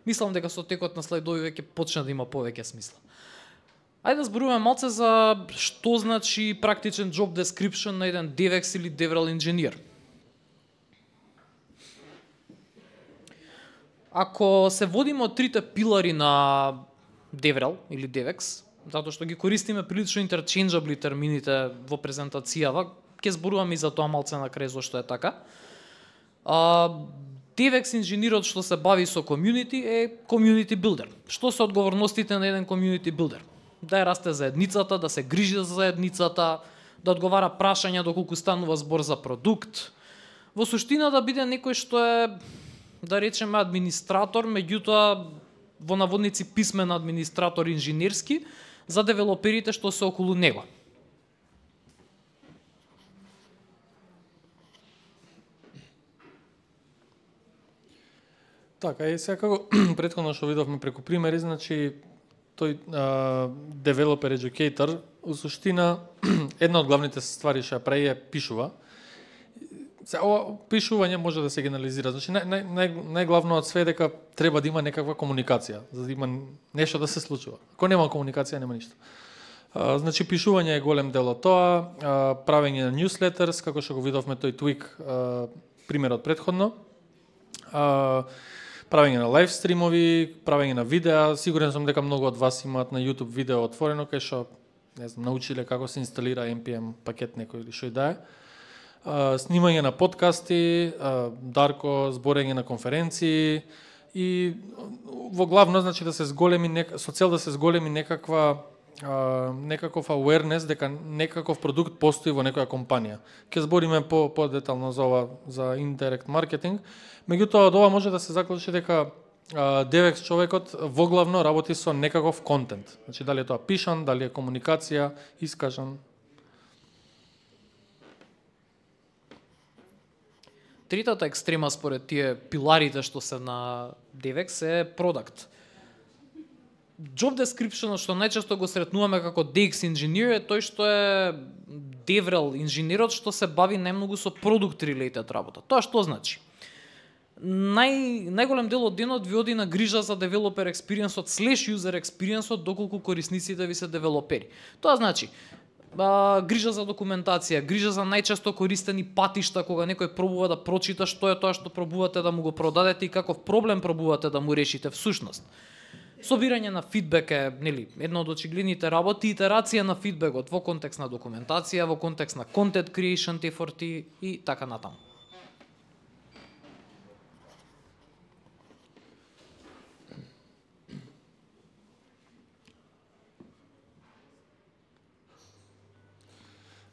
мислам дека со текот на слайдови веќе почне да има повеќе смисла. Ајде да зборуваме малце за што значи практичен job description на еден DevEx или DevRel инженер. Ако се водиме од трите пилари на DevRel или DevEx, затоа што ги користиме прилично interchangeably термините во презентацијава, ќе зборувам и за тоа малце на крај зошто е така. DevEx инженерот што се бави со community е community builder. Што се одговорностите на еден community builder? Да ја расте заедницата, да се грижи за заедницата, да одговара прашања доколку станува збор за продукт. Во суштина да биде некој што е, да речеме, администратор, меѓутоа во наводници писмен администратор инженерски, за девелоперите што се околу него. Така, и сега како претходно што видовме преку примери, значи тој developer educator, у суштина една од главните ствари што ја прави е пишува. Ова пишување може да се генерализира. Значи најглавно од све е дека треба да има некаква комуникација, за да има нешто да се случува. Ако нема комуникација, нема ништо. Значи пишување е голем дел од тоа, правење на newsletters, како што го видовме тој Twig примерот претходно. Правење на лайв стримови, правење на видеа, сигурен сум дека многу од вас имаат на YouTube видео отворено кај што, не знам, научиле како се инсталира npm пакет некој или што и да е. Снимање на подкасти, Дарко, зборење на конференции и во главно значи да се зголеми со цел да се зголеми некаков awareness дека некаков продукт постои во некоја компанија. Ќе збориме по-детално за ова, за indirect marketing. Меѓутоа од ова може да се заклучи дека DevEx човекот во главно работи со некаков контент. Значи дали е тоа пишан, дали е комуникација, искажан. Третата екстрема според тие пиларите што се на DevEx е продукт. Job description што најчесто го сретнуваме како DX инженер е тој што е DevRel инженерот што се бави најмногу со product related работа. Тоа што значи? Најголем дел од денот ви оди на грижа за developer experience-от / user experience-от доколку корисниците ви се девелопери. Тоа значи грижа за документација, грижа за најчесто користени патишта кога некој пробува да прочита што е тоа што пробувате да му го продадете и каков проблем пробувате да му решите всушност. Собирање на фидбек е, нели, една од очигледните работи, итерација на фидбекот во контекст на документација, во контекст на content creation efforti и така натаму.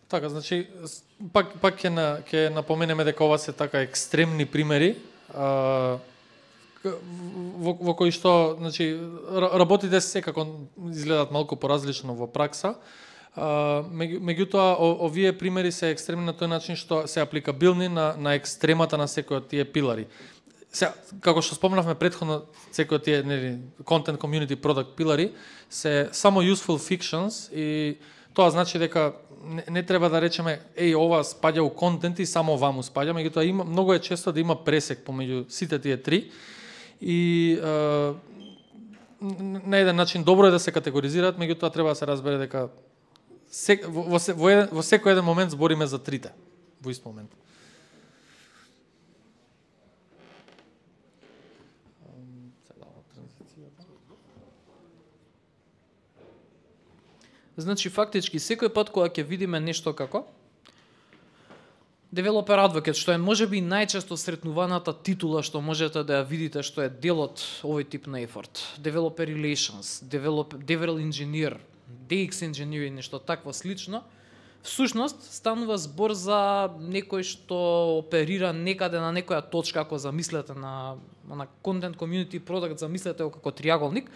Така, значи, пак ќе напоменеме дека ова се така екстремни примери, во кои што, значи, работите секако изгледат малку поразлично во пракса, меѓутоа овие примери се екстремни на тој начин што се апликабилни на екстремата на секој од тие пилари. Сега, како што спомнавме претходно, секој од тие, нели, content, community, product пилари се само useful fictions и тоа значи дека не треба да речеме ова спаѓа у контент и само ваму спаѓа, меѓутоа има многу е често да има пресек помеѓу сите тие три и на еден начин добро е да се категоризираат, меѓутоа треба да се разбере дека во секој еден момент збориме за трите во ист момент. Значи, фактички, секој пат кога ќе видиме нешто како Developer Advocate, што е можеби најчесто сретнуваната титула што можете да ја видите, што е дел од овој тип на ефорт. Developer Relations, Developer Engineer, DX Engineer и нешто такво слично. Всушност, станува збор за некој што оперира некаде на некоја точка, ако замислете на Content Community Product, замислете го како триаголник,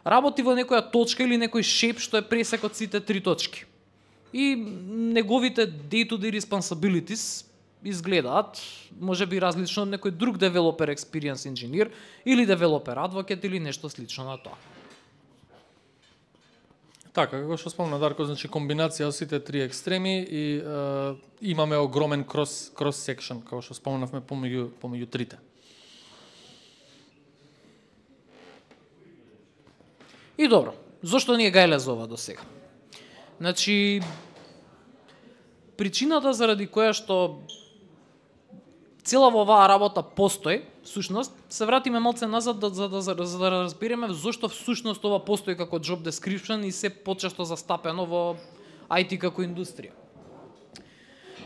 работи во некоја точка или некој шейп што е пресек од сите три точки. И неговите day-to-day responsibilities изгледаат можеби различно од некој друг developer experience engineer или developer advocate или нешто слично на тоа. Така, како што спомна Дарко, значи комбинација од сите три екстреми и имаме огромен cross section, како што спомнавме помеѓу трите. И добро, зошто ни е гајле за ова до сега? Значи, причината заради која што цела во оваа работа постои, всушност, се вратиме малце назад за да разбереме зошто всушност ова постои како job description и се почесто застапено во IT како индустрија.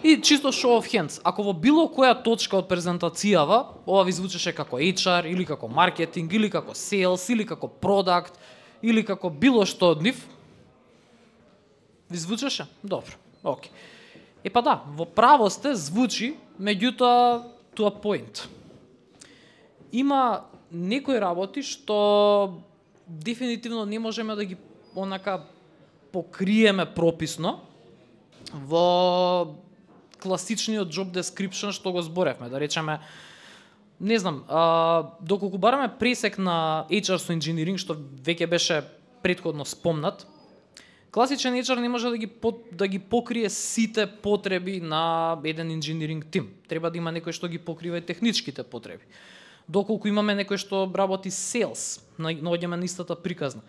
И чисто show of hands, ако во било која точка од презентацијава ова ви звучеше како HR или како маркетинг или како sales или како product или како било што од нив, ви звучеше? Добро, окей. Епа да, во право сте звучи, меѓутоа to a point. Има некои работи што дефинитивно не можеме да ги онака покриеме прописно во класичниот job description што го зборевме, да речеме, не знам, доколку бараме пресек на HR со engineering, што веќе беше претходно спомнат, класичен HR не може да ги покрие сите потреби на еден engineering тим. Треба да има некој што ги покрива и техничките потреби. Доколку имаме некој што работи sales, наоѓаме на истата приказна.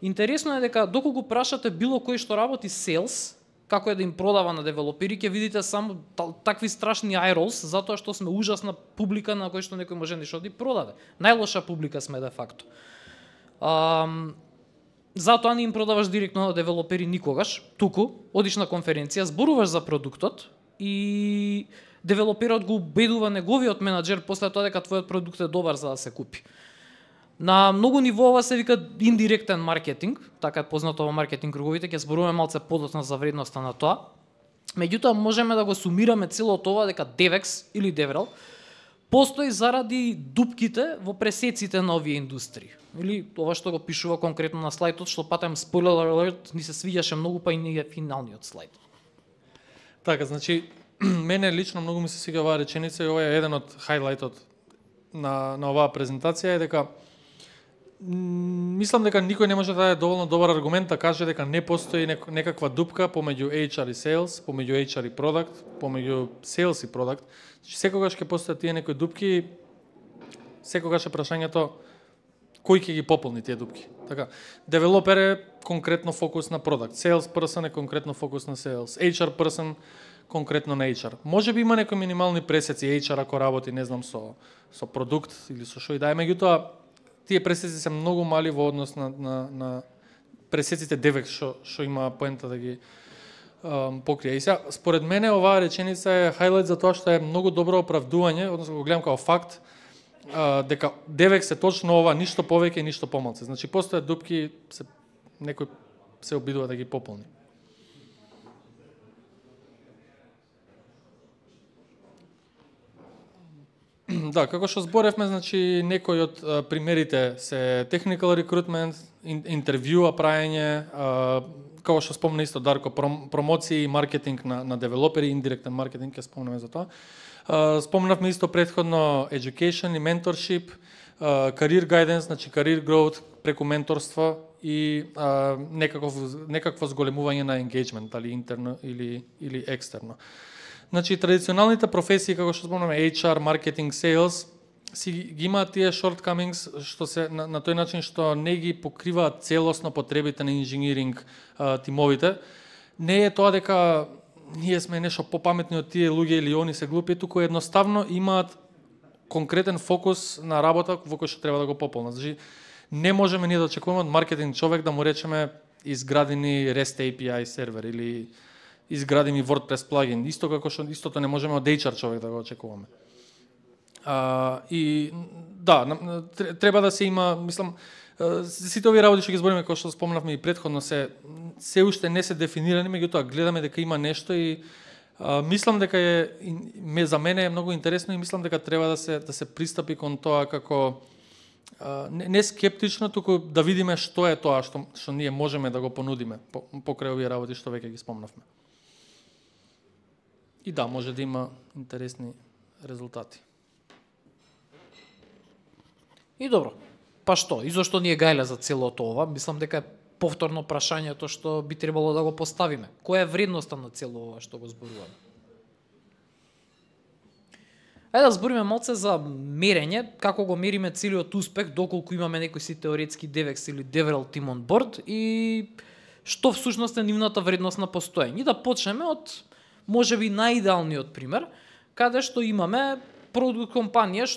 Интересно е дека доколку прашате било кој што работи sales, како е да им продава на девелопери, ќе видите само такви страшни eye rolls, затоа што сме ужасна публика на кој што некој може нешто да продаде. Најлоша публика сме де факто. Затоа не им продаваш директно на девелопери никогаш, туку одиш на конференција, зборуваш за продуктот и девелоперот го убедува неговиот менаџер после тоа дека твојот продукт е добар за да се купи. На многу нивоа се вика индиректен маркетинг, така е познато во маркетинг круговите, ќе зборуваме малце подоцна за вредноста на тоа. Меѓутоа можеме да го сумираме целото ова дека DevEx или DevRel постои заради дупките во пресеците на овие индустрии. Или ова што го пишува конкретно на слайдот, што патем spoiler alert, ни се свиѓаше многу, па и не е финалниот слайд. Така, значи, мене лично многу ми се свиѓа оваа реченица и ова е еден од хайлайтот на оваа презентација, е дека мислам дека никој не може да даде доволно добар аргумент да каже дека не постои некаква дупка помеѓу HR и sales, помеѓу HR и product, помеѓу sales и product. Секогаш ќе постојат тие некои дупки, секогаш е прашањето кој ќе ги пополни тие дупки. Така, девелопер е конкретно фокус на product, sales person е конкретно фокус на sales, HR person конкретно на HR. Може би има некои минимални пресеци HR ако работи, не знам, со продукт или со шо и да е, меѓутоа тие пресеци се многу мали во однос на пресеците DevEx што има поента да ги покрие. И сега, според мене, оваа реченица е хайлайт за тоа што е многу добро оправдување, односно го гледам како факт, дека DevEx е точно ова, ништо повеќе и ништо помалце. Значи, постојат дупки, некој се обидува да ги пополни. Да, како што зборевме, значи некои од примерите се technical recruitment, интервјуа праење, како што спомна исто Дарко, промоции и маркетинг на девелопери, индиректен маркетинг, ќе спомнеме за тоа. Спомнавме исто претходно education и mentorship, career guidance, значи career growth преку менторство и некакво зголемување на engagement, дали интерно или екстерно. Значи, традиционалните професии, како што спомнаме, HR, маркетинг, sales, ги имаат тие shortcomings што се на тој начин што не ги покриваат целосно потребите на инженеринг тимовите. Не е тоа дека ние сме нешто попаметни од тие луѓе или они се глупи, туку едноставно имаат конкретен фокус на работа во кој што треба да го пополнат. Значи, не можеме ние да очекуваме од маркетинг човек да му речеме изгради ни REST API сервер или изгради ми WordPress плагин. Исто како што истото не можеме од HR човек да го очекуваме. И да, треба да се има, мислам, сите овие работи што ги збориме, кои што спомнавме и претходно, се уште не се дефинирани, меѓутоа гледаме дека има нешто и мислам дека за мене е многу интересно и мислам дека треба да се пристапи кон тоа како не скептично, туку да видиме што е тоа што ние можеме да го понудиме покрај овие работи што веќе ги спомнавме. И да, може да има интересни резултати. И добро. Па што? И зашто ние гајле за целото ова? Мислам дека е повторно прашањето што би требало да го поставиме. Која е вредноста на цело ова што го зборуваме? Ајде да збориме малце за мерење, како го мериме целиот успех, доколку имаме некои си теоретски DevEx или DevRel team on board и што всушност е нивната вредност на постоење. И да почнеме од можеби најидеалниот пример, каде што имаме продукт компанија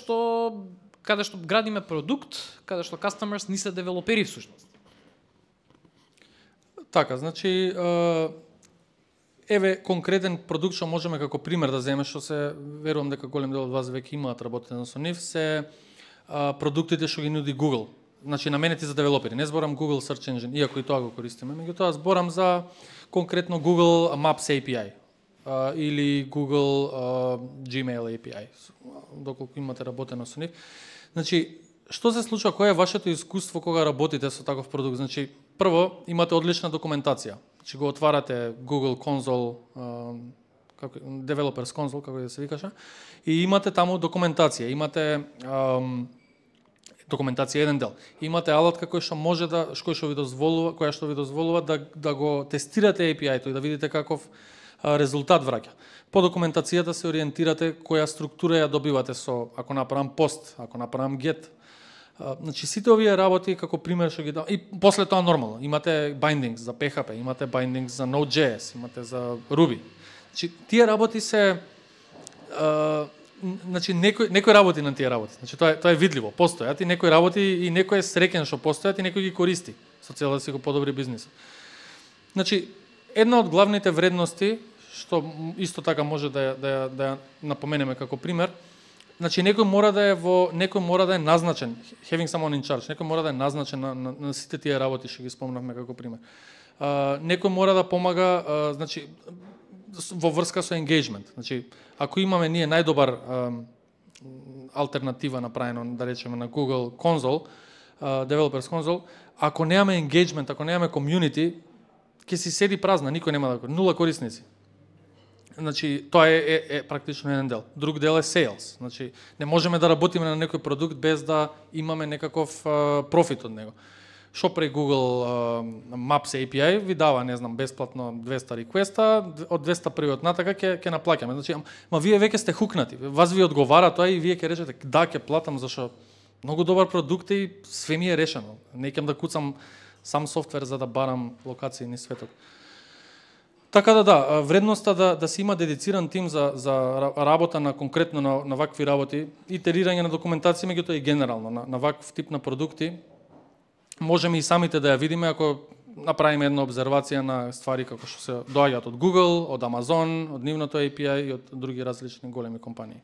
каде што градиме продукт, каде што customers ни се девелопери всушност. Така, значи еве конкретен продукт што можеме како пример да земеме, што се верувам дека голем дел од вас веќе имаат работено со нив, се продуктите што ги нуди Google. Значи наменети за девелопери. Не зборам Google Search Engine, иако и тоа го користиме, меѓутоа зборам за конкретно Google Maps API или Google Gmail API, доколку имате работено со нив. Значи, што се случува, кое е вашето искуство кога работите со таков продукт? Значи, прво, имате одлична документација. Значи, го отварате Google Console, Developers Console, како да се викаше, и имате таму документација. Имате документација еден дел. Имате алатка која што ви дозволува да го тестирате API-то и да видите каков резултат враќа. По документацијата се ориентирате која структура ја добивате ако направам пост, ако направам get. Значи сите овие работи како пример што ги дам и после тоа нормално имате bindings за PHP, имате bindings за Node.js, имате за Ruby. Значи тие работи се значи некои работи на тие работи. Значи тоа е видливо, постојат и некои работи и некој е среќен што постојат и некој ги користи со цел да си го подобри бизнисот. Значи една од главните вредности што исто така може да ја напоменеме како пример, значи некој мора да е назначен, having someone in charge, некој мора да е назначен на сите тие работи што ги спомнавме како пример. Некој мора да помага, значи во врска со engagement. Значи ако имаме ние најдобар алтернатива направено, да речеме на Google Console, Developers Console, ако немаме engagement, ако немаме community, ќе си седи празна, никој нема да нула корисници. Значи, тоа е практично еден дел. Друг дел е sales. Значи, не можеме да работиме на некој продукт без да имаме некаков профит од него. Шо прави Google Maps API ви дава, не знам, бесплатно 200 реквеста, од 200 првиот натака ќе наплаќаме. Значи, вие веќе сте хукнати. Вас ви одговара тоа и вие ќе речете да, ќе платам зашо многу добар продукт и све ми е решено. Не ќе да куцам сам софтвер за да барам локации низ светот. Така да, вредноста да се има дедициран тим за работа на конкретно на вакви работи, итерирање на документација, меѓутоа и генерално на ваков тип на продукти, можеме и самите да ја видиме ако направиме една обзервација на ствари како што се доаѓаат од Google, од Amazon, од нивното API и од други различни големи компании.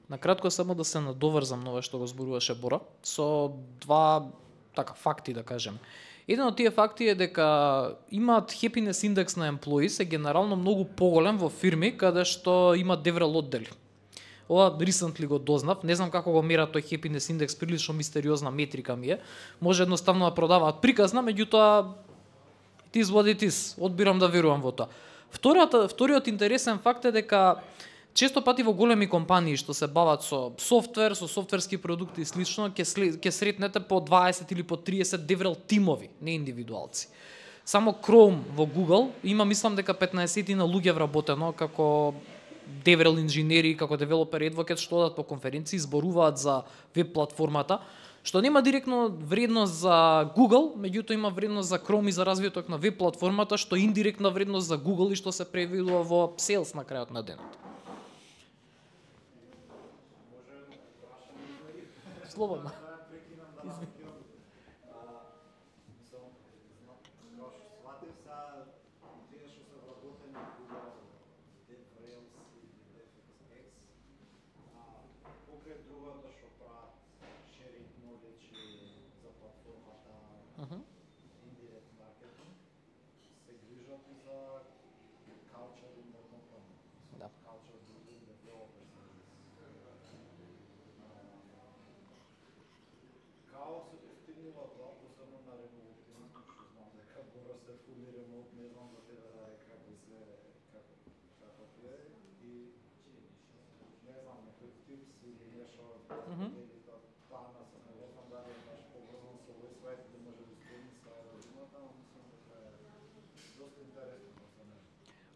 Накратко само да се надоврзам на ова што го зборуваше Бора, со два факти да кажем. Еден од тие факти е дека имаат happiness индекс на employees е генерално многу поголем во фирми каде што имаат DevRel оддели. Ова recently го дознав, не знам како го мерат тој happiness индекс, прилично мистериозна метрика ми е. Може едноставно да продаваат приказна, меѓутоа it is what it is. Одбирам да верувам во тоа. Вториот интересен факт е дека често пати во големи компании што се бават со софтвер, со софтверски продукти и слично, ќе сретнете по 20 или по 30 DevRel тимови, не индивидуалци. Само Chrome во Google има, мислам дека 15 на луѓе вработено како DevRel инженери како developer advocate што одат по конференции, зборуваат за веб платформата, што нема директно вредност за Google, меѓутоа има вредност за Chrome и за развиток на веб платформата, што е индиректна вредност за Google и што се превидува во sales на крајот на денот. Слободно.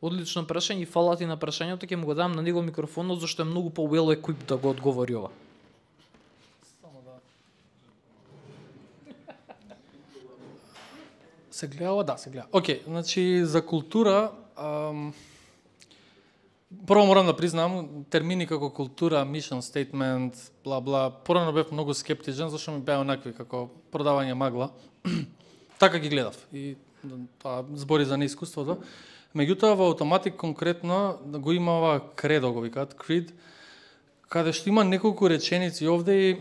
Одлично прашање и фала ти на прашањето, ќе му го дам на него микрофонот зашто е многу по-well equipped да го одговори ова. Само да. Се гледа, да, се гледа. Океј, значи за култура, прво морам да признам, термини како култура, mission statement, бла бла, порано бев многу скептичен зашто ми беа онакви како продавање магла. Така ги гледав и тоа збори за неискуството. Меѓутоа во Automattic конкретно го има ова кредо, го викаат, creed, каде што има неколку реченици овде и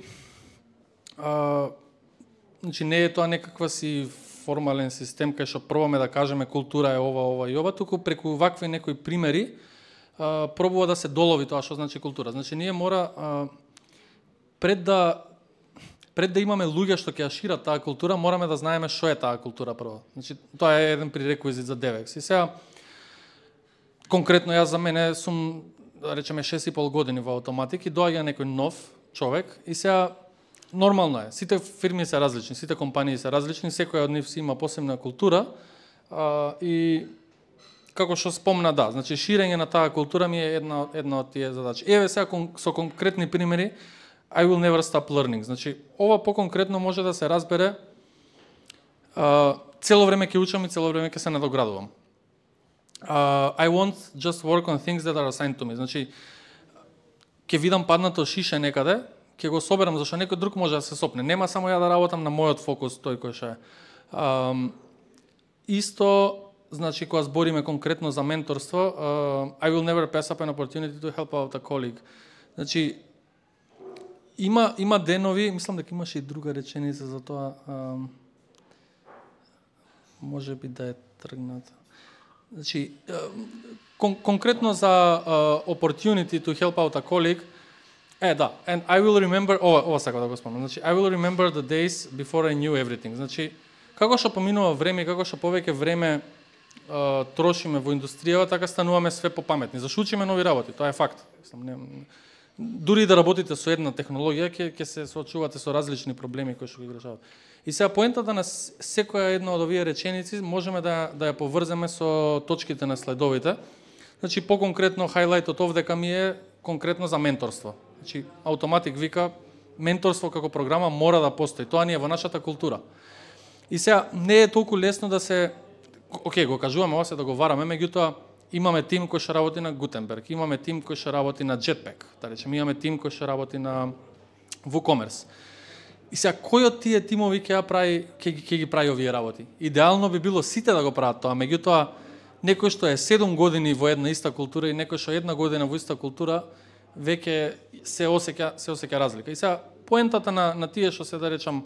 значи не е тоа некаква си формален систем кај што пробаме да кажеме култура е ова и ова, туку преку вакви некои примери пробува да се долови тоа што значи култура. Значи ние мора пред да имаме луѓе што ќе ја шират таа култура, мораме да знаеме што е таа култура прво. Значи тоа е еден пререквизит за DevEx. И сега конкретно јас за мене сум, да речеме, 6,5 години во Automattic и доаѓа некој нов човек и сега нормално е. Сите фирми се различни, сите компании се различни, секоја од нив си има посебна култура и како што спомна, да, значи ширење на таа култура ми е една од тие задачи. Еве сега со конкретни примери, I will never stop learning. Значи ова поконкретно може да се разбере цело време ќе учам и цело време ќе се надоградувам. I won't just work on things that are assigned to me. Значи, ќе видам паднато шише некаде, ќе го соберам, зашто некој друг може да се сопне. Нема само ја да работам на мојот фокус, тој кој ше. Исто, значи, кога збориме конкретно за менторство, I will never pass up an opportunity to help out a colleague. Значи, има денови, мислам дека имаше и друга реченица за тоа, може би да е тргната. Значи, конкретно за opportunity to help out a colleague, да, and I will remember, ова сакам да го спомнам, значи, I will remember the days before I knew everything. Значи, како што поминува време, како што повеќе време трошиме во индустријава, така стануваме све попаметни. Зашто учиме нови работи, тоа е факт. Дури да работите со една технологија, ќе се соочувате со различни проблеми кои што ги решават. И сега поентата на секоја една од овие реченици можеме да ја поврземе со точките на следовите. Значи, по-конкретно, хајлајтот овдека ми е конкретно за менторство. Значи, Automattic вика, менторство како програма мора да постои. Тоа ни е во нашата култура. И сега, не е толку лесно да се... Океј, го кажуваме, ова се да го вараме, меѓутоа, имаме тим кој што работи на Gutenberg, имаме тим кој што работи на Jetpack, да речеме, имаме тим кој што работи на WooCommerce. И сега, кој од тие тимови ќе ги прави овие работи? Идеално би било сите да го прават тоа, меѓутоа, некој што е 7 години во една иста култура и некој што е 1 година во иста култура, веќе се осеќа разлика. И сега, поентата на тие што се да речам,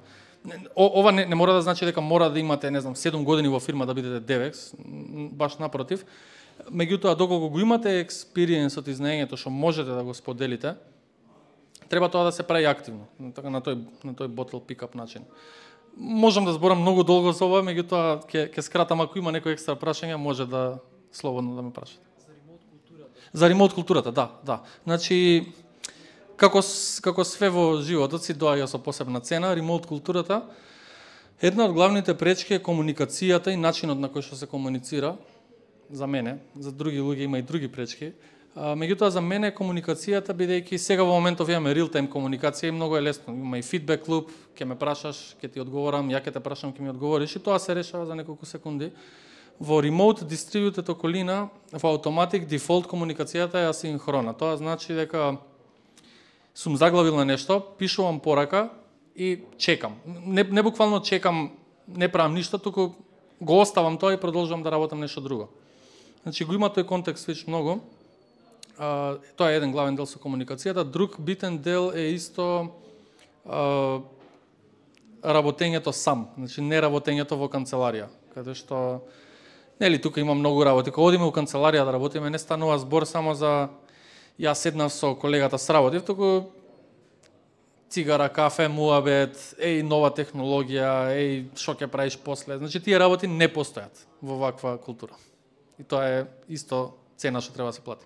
ова не мора да значи дека мора да имате, не знам, 7 години во фирма да бидете DevEx, баш напротив. Меѓутоа, доколку го имате експириенсот и знаењето што можете да го споделите, треба тоа да се прави активно, така на тој bottle pick-up начин. Можам да зборам многу долго за ова, меѓутоа ќе скратам, ако има некои екстра прашања, може да слободно да ме прашате. За ремоут културата, да. Значи, како све во животот си доаѓа со посебна цена, ремоут културата, една од главните пречки е комуникацијата и начинот на кој што се комуницира, за мене, за други луѓе има и други пречки, Меѓутоа за мене комуникацијата, бидејќи сега во моментов имаме real time комуникација и многу е лесно. Има и фидбек луп, ќе ме прашаш, ќе ти одговорам, ја ќе те прашам, ќе ми одговориш и тоа се решава за неколку секунди. Во remote distributed околина, во automatic default комуникацијата е асинхрона. Тоа значи дека сум заглавил на нешто, пишувам порака и чекам. Не буквално чекам, не правам ништо, туку го оставам тоа и продолжувам да работам нешто друго. Значи го има тој контекст свич многу. Тоа е еден главен дел со комуникацијата. Друг битен дел е исто работењето сам, значи не работењето во канцеларија, каде што нели тука има многу работи. Кога одиме во канцеларија да работиме, не станува збор само за јас седнав со колегата сработив, туку цигара, кафе, муабет, нова технологија, што ќе правиш после. Значи тие работи не постојат во ваква култура. И тоа е исто цена што треба да се плати.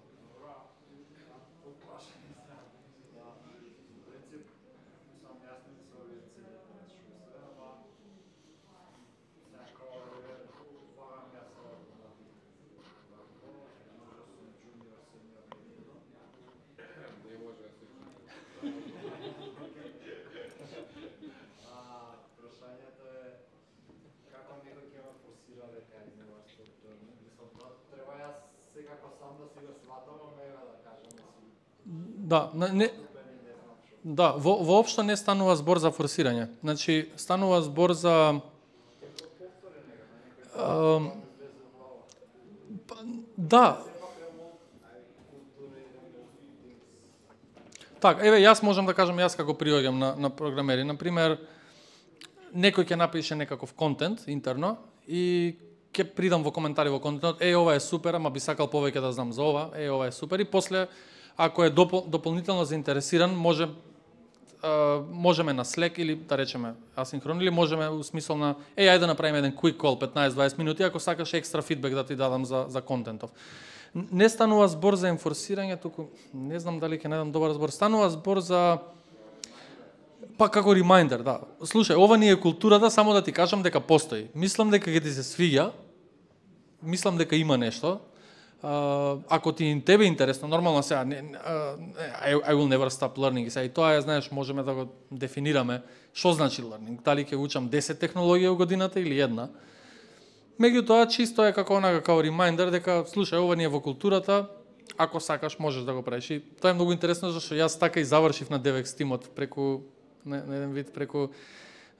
Да, воопшто не станува збор за форсирање. Значи, станува збор за да. Так, јас можам да кажам јас како приоѓам на програмери. Например, некој ќе напише некаков контент интерно и ќе придам во коментари во контентот, ова е супер, ама би сакал повеќе да знам за ова, ова е супер, и после ако е дополнително заинтересиран, можеме на Slack или да речеме асинхрон, или можеме у смисол на ајде да направиме еден quick call 15-20 минути ако сакаш екстра фидбек да ти дадам за контентов. Не станува збор за енфорсирање, туку не знам дали ќе најдам добар збор. Станува збор за како ремайндер, да. Слушај, ова ни е културата, само да ти кажам дека постои. Мислам дека ќе ти се свиѓа. Мислам дека има нешто. Ако ти тебе интересно, нормално сега I will never stop learning. И тоа е, знаеш, можеме да го дефинираме што значи learning. Дали ќе учам 10 технологии во годината или една. Меѓутоа чисто е како ремайндер дека слушај, ова ни е во културата, ако сакаш можеш да го правиш. И тоа е многу интересно зашто јас така и завршив на DevX тимот преку на еден вид преку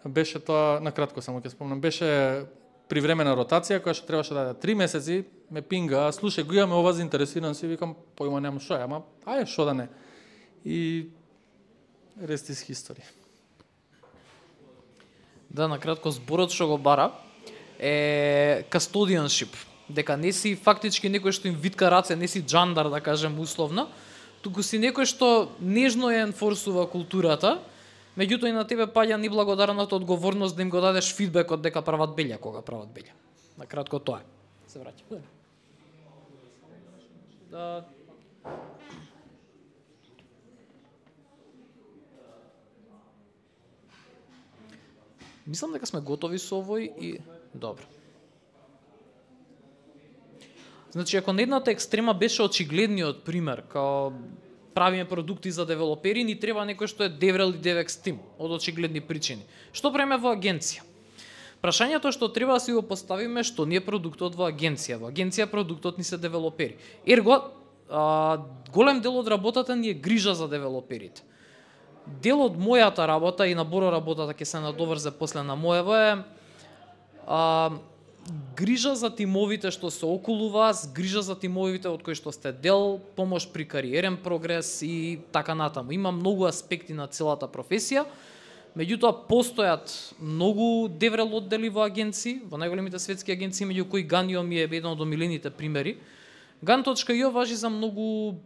беше тоа накратко само ќе спомнам, беше привремена ротација која што требаше да даде 3 месеци, ме пинга, слушај, го имаме ова заинтересиран си, викам, појма немам што е, ама ајде што да не. И rest is history. Да, накратко зборот што го бара е custodianship, дека не си фактички некој што им витка раце, не си джандар, да кажем условно, туку си некој што нежно ја енфорсува културата, меѓутоа и на тебе паѓа неблагодарната одговорност да им го дадеш фидбекот дека прават белја кога прават белја. Накратко тоа е. Се враќам. Да. Мислам дека сме готови со овој и добро. Значи, ако на едната екстрема беше очигледниот пример, као правиме продукти за девелопери, ни треба некој што е DevRel и DevX тим, од очигледни причини. Што правиме во агенција? Прашањето што треба да си го поставиме што не е продуктот во агенција. Во агенција продуктот ни се девелопери. Ерго, голем дел од работата ни е грижа за девелоперите. Дел од мојата работа и на Боро работата ќе се надоврзе после на моево е грижа за тимовите што се околу вас, грижа за тимовите од кои што сте дел, помош при кариерен прогрес и така натаму. Има многу аспекти на целата професија, меѓутоа постојат многу DevRel оддели во агенции, во најголемите светски агенции, меѓу кои Ganio ми е еден од омилените примери. Gan.io важи за многу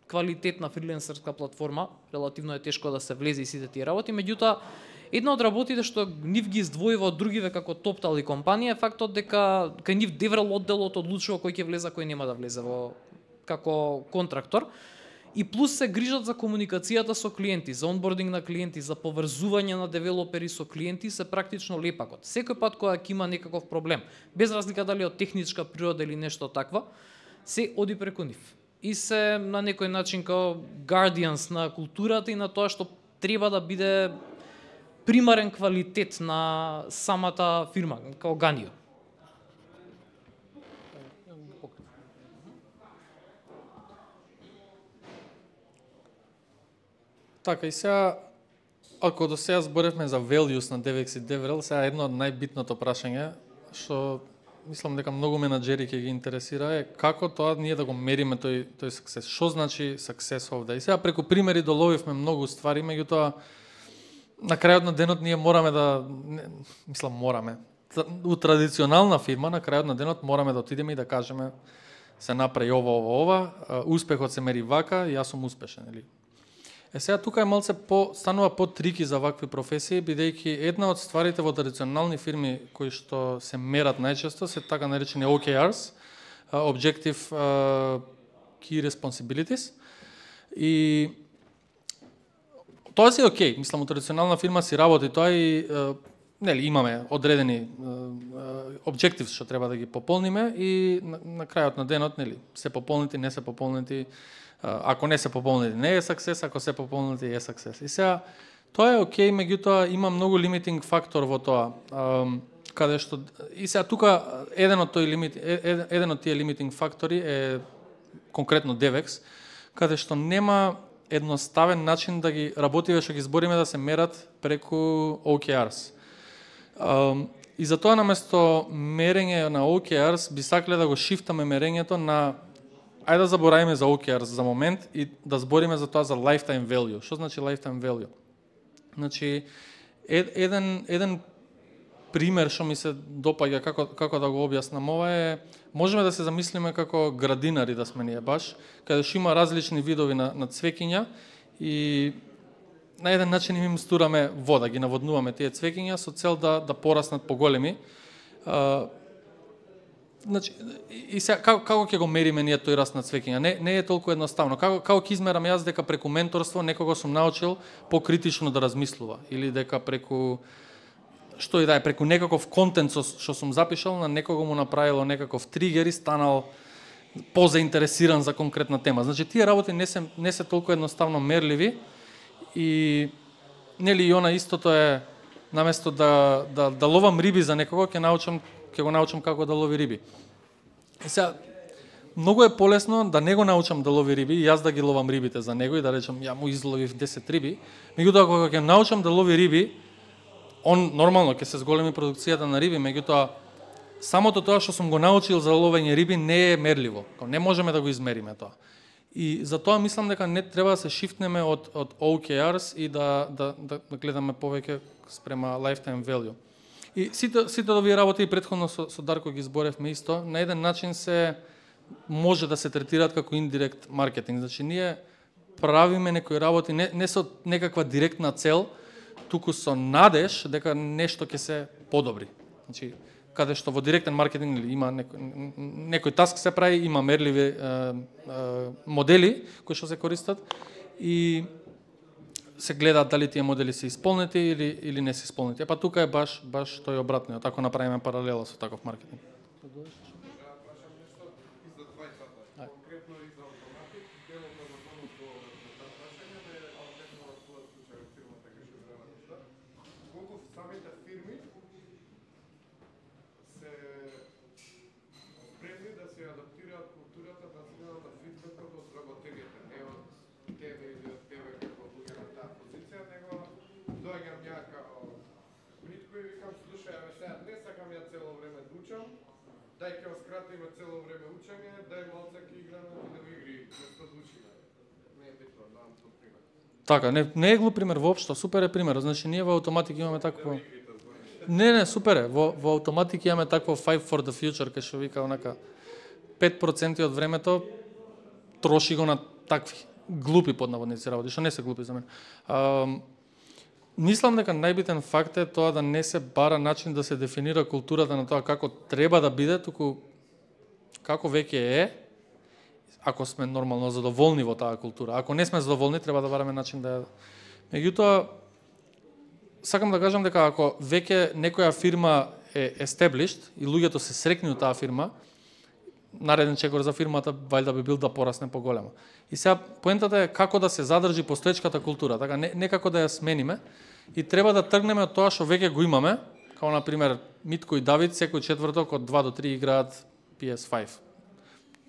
квалитетна фриленсерска платформа, релативно е тешко да се влезе и сите тие работи, меѓутоа една од работите што нив ги издвојува од другиве како TopTal и компанија е фактот дека кај нив DevRel одделот одлучува кој ќе влезе, кој нема да влезе во како контрактор. И плюс се грижат за комуникацијата со клиенти, за онбординг на клиенти, за поврзување на девелопери со клиенти, се практично лепакот. Секој пат кога ќе има некаков проблем, без разлика дали од техничка природа или нешто такво, се оди преку нив. и се на некој начин као guardians на културата и на тоа што треба да биде примарен квалитет на самата фирма, као Ганио. Така, и сега, ако до сега зборевме за values на DevEx и DevRel, сега едно од најбитното прашање, што мислам дека многу менаџери ќе ги интересира, е како тоа ние да го мериме тој success. Што значи success овде? И сега преку примери доловивме многу ствари, меѓутоа на крајот на денот ние мораме у традиционална фирма на крајот на денот мораме да отидеме и да кажеме се направи ова, успехот се мери вака и јас сум успешен, или? Сега тука е малце станува по-трики за вакви професии, бидејќи една од стварите во традиционални фирми кои што се мерат најчесто се така наречени OKRs, Objective Key Responsibilities. И тоа си окей, мислам, у традиционална фирма си работи тоа и нели имаме одредени objectives што треба да ги пополниме и на крајот на денот нели се пополнити, не се пополнити. Ако не се пополнити, не е success, ако се пополнити, е success. И сега, тоа е окей, меѓутоа има многу limiting фактор во тоа. Каде што и сега тука еден од тие limiting фактори е конкретно DevEx, каде што нема едноставен начин да ги работиме што ги збориме да се мерат преку OKRs. И затоа наместо мерење на OKRs би сакале да го шифтаме мерењето на ајде да заборавиме за OKRs за момент и да збориме за тоа за lifetime value. Што значи lifetime value? Значи, еден пример што ми се допаѓа како да го објаснам ова е, можеме да се замислиме како градинари да сме ние баш, каде што има различни видови на цвеќиња и на еден начин им стураме вода, ги наводнуваме тие цвеќиња со цел да пораснат поголеми. Значи, и сега, како ќе го мериме ние тој раст на цвеќиња? Не е толку едноставно. Како ќе измерам јас дека преку менторство некого сум научил покритично да размислува или дека преку што и да е, преку некаков контент што сум запишал на некого му направило некаков тригер и станал позаинтересиран за конкретна тема. Значи тие работи не се толку едноставно мерливи и нели и она истото е наместо да ловам риби за некого ќе го научам како да лови риби. И сега, многу е полесно да не го научам да лови риби и јас да ги ловам рибите за него и да речам ја му изловив 10 риби. Меѓутоа кога ќе научам да лови риби, он нормално ќе се зголеми продукцијата на риби, меѓутоа самото тоа што сум го научил за ловење риби не е мерливо. Не можеме да го измериме тоа. И затоа мислам дека не треба да се шифтнеме од OKRs и да гледаме повеќе спрема lifetime value. И сите овие работи и претходно со Дарко ги зборевме исто, на еден начин се може да се третираат како индирект маркетинг. Значи ние правиме некои работи не со некаква директна цел, туку со надеж дека нешто ќе се подобри. Значи каде што во директен маркетинг има некој таск се прави, има мерливи модели кои што се користат и се гледаат дали тие модели се исполнети или не се исполнети. Па тука е баш тој обратниот, ако направиме паралела со таков маркетинг. Дај ќе скратиме цело време учење, дај малце ќе играме видео игри, место да учиме. Не е битно, давам тој пример. Така, не е глуп пример воопшто, супер е пример. Значи ние во Automatic имаме такво. Не, супер е. Во Automatic имаме такво Five for the Future, кај што вика онака 5% од времето троши го на такви глупи поднаводници работи, што не се глупи за мене. Мислам дека најбитен факт е тоа да не се бара начин да се дефинира културата на тоа како треба да биде, туку како веќе е, ако сме нормално задоволни во таа култура. Ако не сме задоволни, треба да бараме начин да... Меѓутоа, сакам да кажам дека ако веќе некоја фирма е established и луѓето се срекни од таа фирма, нареден чекор за фирмата вајда би бил да порасне поголемо. И сега поентата е како да се задржи постоечката култура, така не како да ја смениме, и треба да тргнеме од тоа што веќе го имаме, како на пример Митко и Давид секој четврток од 2 до 3 играат PS5.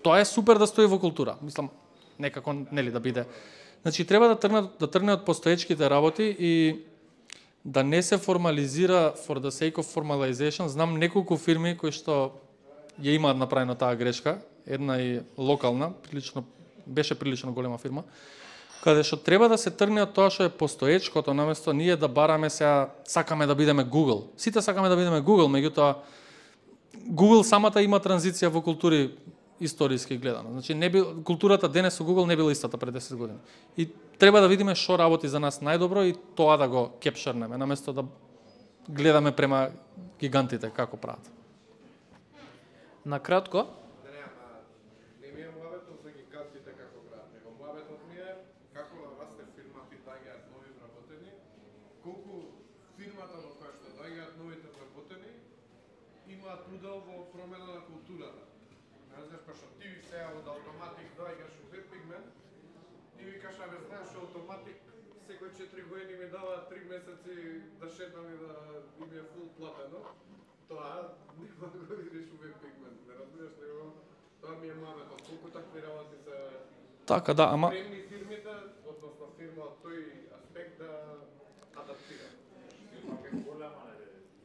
Тоа е супер да стои во култура. Мислам некако нели да биде. Значи треба да тргне од постоечките работи и да не се формализира for the sake of formalization. Знам неколку фирми кои што ја имаат направено таа грешка, една и локална, беше прилично голема фирма, каде што треба да се тргне од тоа што е постоечкото, наместо ние да бараме сега сакаме да бидеме Google. Сите сакаме да бидеме Google, меѓутоа Google самата има транзиција во култури историски гледано. Значи културата денес со Google не била истата пред 10 години. И треба да видиме што работи за нас најдобро и тоа да го кепшернеме, наместо да гледаме према гигантите како прават. Накратко, не ми е муабетот за гигантите како град, него муабетот ми е како да расте фирмата и доаѓаат нови вработени, колку фирмата во која што доаѓаат новите вработени имаат удел во промена на културата. Не знаеш, па што ти сега од Automatic доаѓаш у Webpigment, ти викаш, абе знаеш, Automatic секој 4 години ми дава 3 месеци да шетам и да им е фул платено. Тоа нема да го видиш у Webpigment. Не разбираш него, тоа ми е мабетот. Колку такви работи се Така, да, ама премни фирмите, односно фирма од тој аспект да адаптира.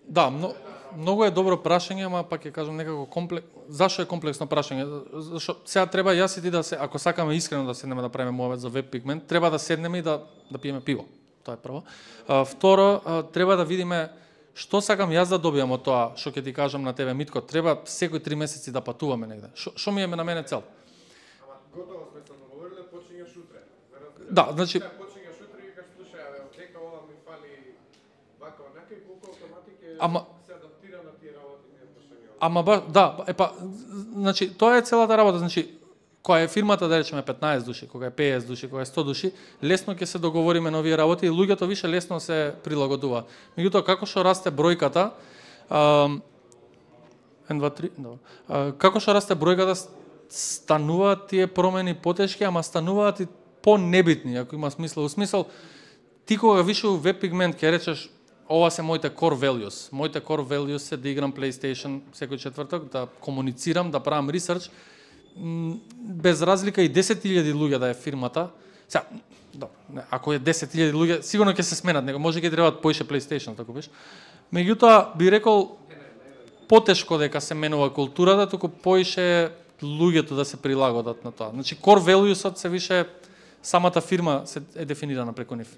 да, многу е добро прашање, ама пак ќе кажам некако Зашо е комплексно прашање? Зашо сега треба јас и ти да се, ако сакаме искрено да седнеме да правиме муабет за Webpigment, треба да седнеме и да пиеме пиво. Тоа е прво. Второ, треба да видиме што сакам јас да добијам од тоа, што ќе ти кажам на тебе, Митко, треба секој 3 месеци да патуваме негде. Што ми е на мене цел? Ама готово сме се договориле, почињаш утре. Да, значи Почињаш утре и кажеш, слушај, абе, дека ова ми фали вака, онака и колку Automatic е се адаптира на тие работи, не прашање. Ама значи тоа е целата работа, значи која е фирмата, да речеме 15 души, кога е 50 души, кога е 100 души, лесно ќе се договориме на овие работи и луѓето више лесно се прилагодува. Меѓутоа како што расте бројката, 1 2 3, добро. Како што расте бројката, стануваат тие промени потешки, ама стануваат и понебитни, ако има смисла. Во смисол, ти кога више у Webpigment ќе речеш ова се моите core values. Моите core values се да играм PlayStation секој четврток, да комуницирам, да правам research, без разлика и 10.000 луѓе да е фирмата. Сега, ако е 10.000 луѓе, сигурно ќе се сменат, него може ќе требаат поише PlayStation, така биш. Меѓутоа би рекол потешко дека се менува културата, туку поише луѓето да се прилагодат на тоа. Значи core values-от се више самата фирма се е дефинирана преку нив.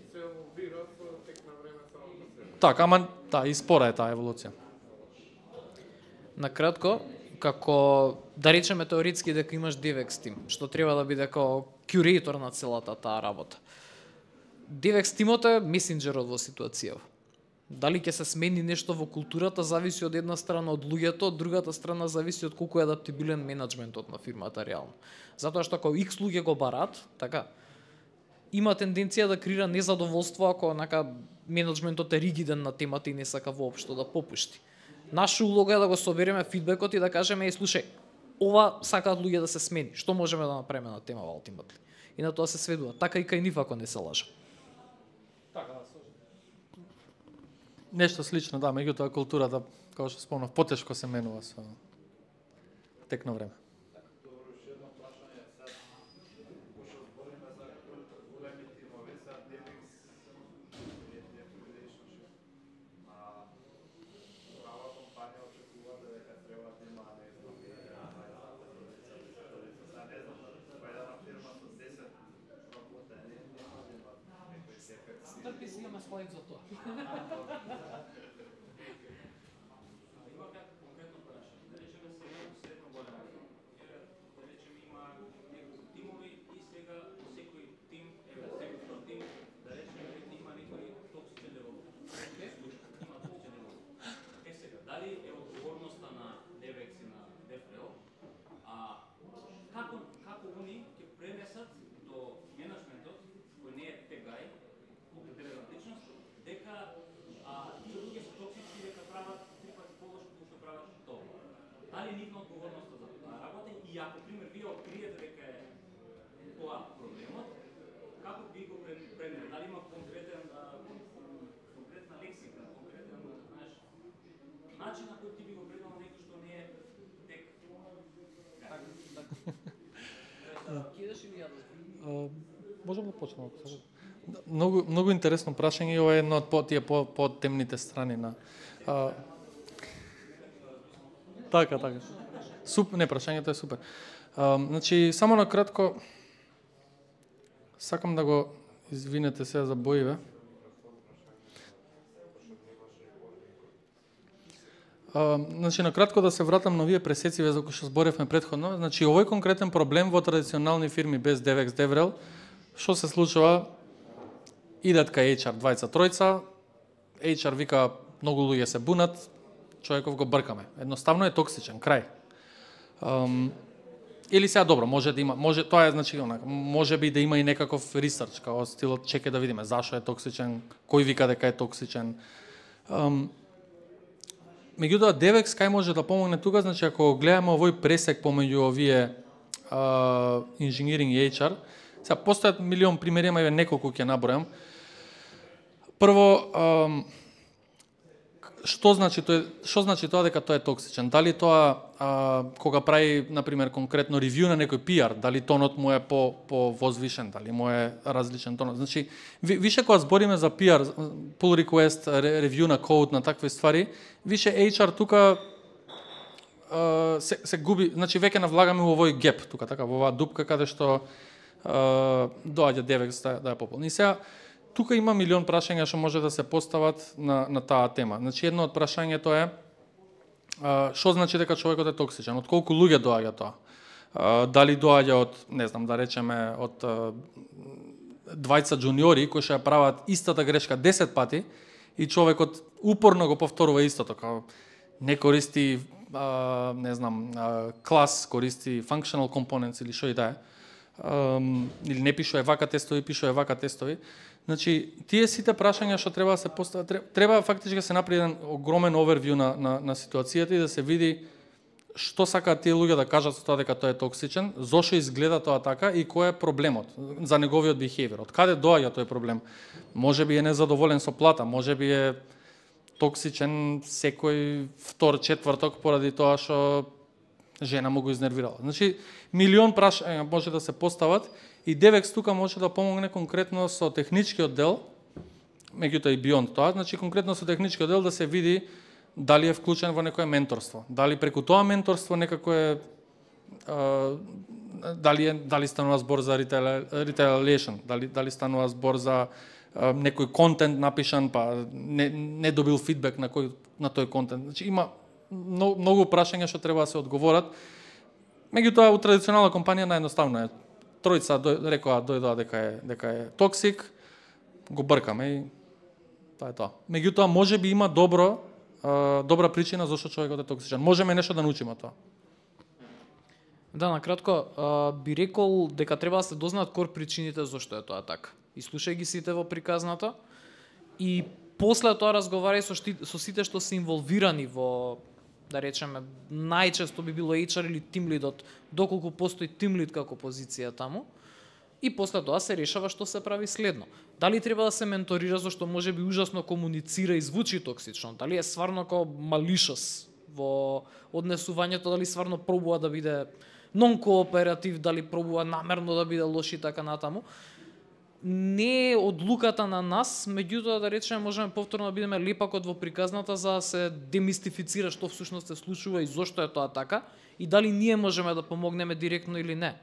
Така, ама да, и спора е таа еволуција. накратко, како да речеме теоретски дека имаш DevX тим, што треба да биде како кюрейтор на целата таа работа. DevX тимот е месенџерот во ситуацијава. Дали ќе се смени нешто во културата зависи од една страна од луѓето, од другата страна зависи од колку е адаптибилен менеджментот на фирмата реално. Затоа што ако X луѓе го барат, така има тенденција да креира незадоволство ако менеджментот е ригиден на темата и не сака воопшто да попушти. Наша улога е да го собереме фидбекот и да кажеме, слушај, ова сакаат луѓе да се смени. Што можеме да направиме на тема ultimately? И на тоа се сведува. Така и кај нив ако не се лажа. Така, да, нешто слично, да, меѓутоа културата, како што спомнав, потешко се менува со тек на време. Трпи си имаме слайд за тоа. Како они ќе пренесат до менеджментот кој не е тегај, дека тие луѓе се токсични Можам да почнем. Многу интересно прашање и ова е едно од тие темните страни на Така. Не, прашањето е супер. Значи, само на кратко сакам да го извинете сега за боиве. Значи, на кратко да се вратам на овие пресеци за кои што зборевме претходно. Значи, овој конкретен проблем во традиционални фирми без DevEx, DevRel, што се случува? Идат кај HR двајца, тројца, HR вика многу луѓе се бунат, човеков го бркаме. Едноставно е токсичен, крај. Или сега добро, може да има, тоа е значи може би да има и некаков ресерч, као стилот чекај да видиме зашо е токсичен, кој вика дека е токсичен. Меѓутоа DevEx кај може да помогне тука, значи ако гледаме овој пресек помеѓу овие инженеринг и HR, сега постојат милион примери, ама неколку ќе набројам. Прво, што значи тоа дека тоа е токсичен? Дали тоа кога прави на пример конкретно ревју на некој PR, дали тонот му е по возвишен, дали му е различен тонот? Значи више кога збориме за PR, pull request, ревју на код, на такви ствари, више HR тука се губи, значи веќе навлагаме во овој геп тука, така во оваа дупка каде што доаѓа DevEx да ја пополни. Сега тука има милион прашања што може да се постават на таа тема. Значи едно од прашањето е што значи дека човекот е токсичен? Од колку луѓе доаѓа тоа? Дали доаѓа од, не знам, да речеме од двајца джуниори кои што ја прават истата грешка 10 пати и човекот упорно го повторува истото, као не користи не знам, клас, користи functional components или што и да е. Или не пишува вака тестови, пишува вака тестови. Значи, тие сите прашања што треба да се постават, треба фактички да се направи еден огромен овервју на ситуацијата и да се види што сакаат тие луѓе да кажат со тоа дека тоа е токсичен, зошто изгледа тоа така и кој е проблемот за неговиот behavior. Од каде доаѓа тој проблем? Може би е незадоволен со плата, може би е токсичен секој втор, четврток поради тоа што жена му го изнервирала. Значи, милион прашања може да се постават и DevEx тука може да помогне конкретно со техничкиот дел, меѓутоа и beyond тоа, значи конкретно со техничкиот дел да се види дали е вклучен во некое менторство, дали преку тоа менторство некако е дали станува збор за retaliation, дали станува збор за некој контент напишан па не добил фидбек на тој контент. Значи има многу прашања што треба да се одговорат. Меѓутоа у традиционална компанија наједноставно е тројца рекоа дојдоа дека е токсик, го бркаме и тоа е тоа. Меѓутоа може би има добра причина зашто човекот е токсичен. Можеме нешто да научиме од тоа. Да, на кратко би рекол дека треба да се дознаат кор причините зашто е тоа така. И слушај ги сите во приказната и после тоа разговарај со сите што се инволвирани во, да речеме, најчесто би било HR или team lead, доколку постои team lead како позиција таму, и после тоа се решава што се прави следно. Дали треба да се менторира зашто може би ужасно комуницира и звучи токсично, дали е стварно како малишос во однесувањето, дали стварно пробува да биде нон-кооператив, дали пробува намерно да биде лош и така натаму. Не е одлуката на нас, меѓутоа да речеме можеме повторно да бидеме лепакот во приказната за да се демистифицира што всушност се случува и зошто е тоа така и дали ние можеме да помогнеме директно или не.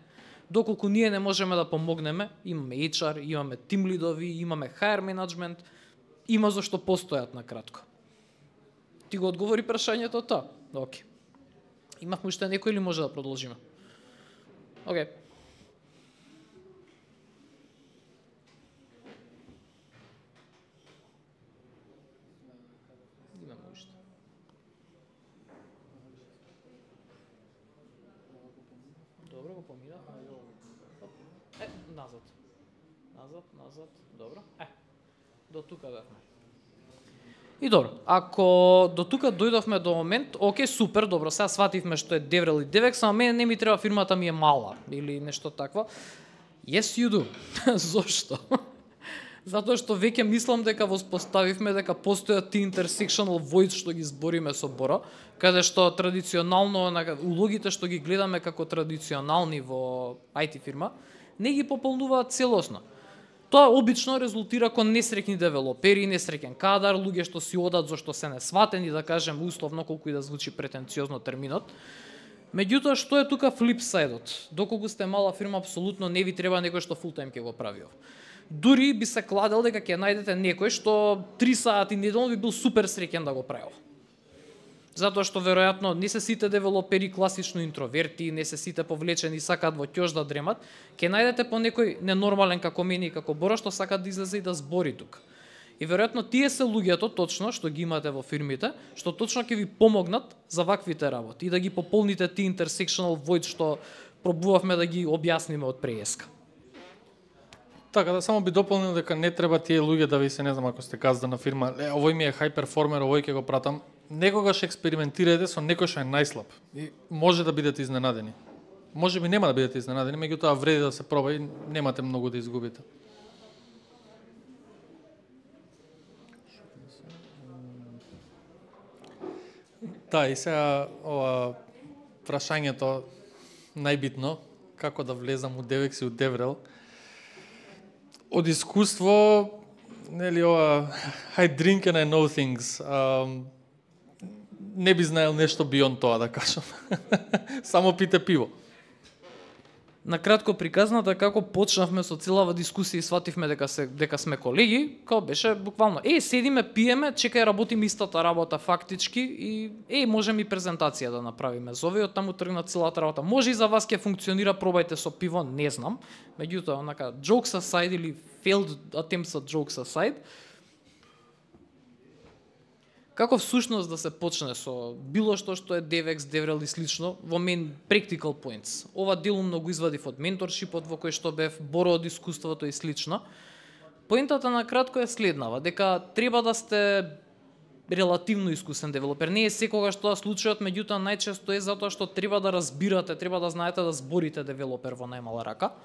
Доколку ние не можеме да помогнеме, имаме HR, имаме team lead-ови, имаме HR management, има зашто постојат на кратко. Ти го одговори прашањето тоа? Океј. Имавме уште некој или може да продолжиме? Океј. Добро, го помина. Назад, добро. До тука бевме. И добро, ако до тука дојдовме до момент, окей, супер, добро, сега свативме што е DevRel и DevEx, ама мене не ми треба, фирмата ми е мала или нешто такво. Yes, you do. Зошто? Затоа што веќе мислам дека воспоставивме дека постојат ти intersectional voids што ги збориме со Боро, каде што традиционално улогите што ги гледаме како традиционални во IT фирма, не ги пополнуваат целосно. Тоа обично резултира кон несреќни девелопери, несреќен кадар, луѓе што си одат зашто се несватени, да кажем условно, колку и да звучи претенциозно терминот. Меѓутоа, што е тука флипсайдот? Доколку сте мала фирма, апсолутно не ви треба некој што фултајм ќе го прави ова. Дури би се кладел дека ќе најдете некој што 3 сати неделно би бил супер среќен да го прави ова. Затоа што веројатно не се сите девелопери класично интроверти, не се сите повлечени, сакаат во ќош да дремат, ќе најдете по некој ненормален како мене и како Боро што сакаат да излезе и да збори тука. И веројатно тие се луѓето точно што ги имате во фирмите, што точно ќе ви помогнат за ваквите работи и да ги пополните тие intersectional void што пробувавме да ги објасниме од преска. Така, да само би дополнил дека не треба тие луѓе да ви се, не знам, ако сте газдена фирма, овој ми е хај перформер, овој ќе го пратам. Некогаш експериментирајте со некој што е најслаб и може да бидете изненадени. Може би нема да бидете изненадени, меѓутоа вреди да се проба и немате многу да изгубите. Да, и сега ова прашањето најбитно, како да влезам у DevEx и у DevRel. Од искуство, нели ова I drink and I know things. Не би знаел нешто beyond тоа, да кажам. Само пите пиво. Накратко приказната како почнавме со целава дискусија и свативме дека сме колеги, како беше буквално седиме, пиеме, чекај работиме истата работа фактички и можеме и презентација да направиме. Зове од таму тргна целата работа. Може и за вас ќе функционира, пробајте со пиво, не знам. Меѓутоа, онака jokes aside или failed attempts at jokes aside, како всушност да се почне со било што е DevEx, DevRel и слично, во мен practical points. Ова делумно го извадив од менторшипот во кој што бев, Боро од искуството и слично. Поентата на кратко е следнава, дека треба да сте релативно искусен девелопер. Не е секогаш тоа случајот, меѓутоа најчесто е затоа што треба да разбирате, треба да знаете да зборите девелопер во најмала рака.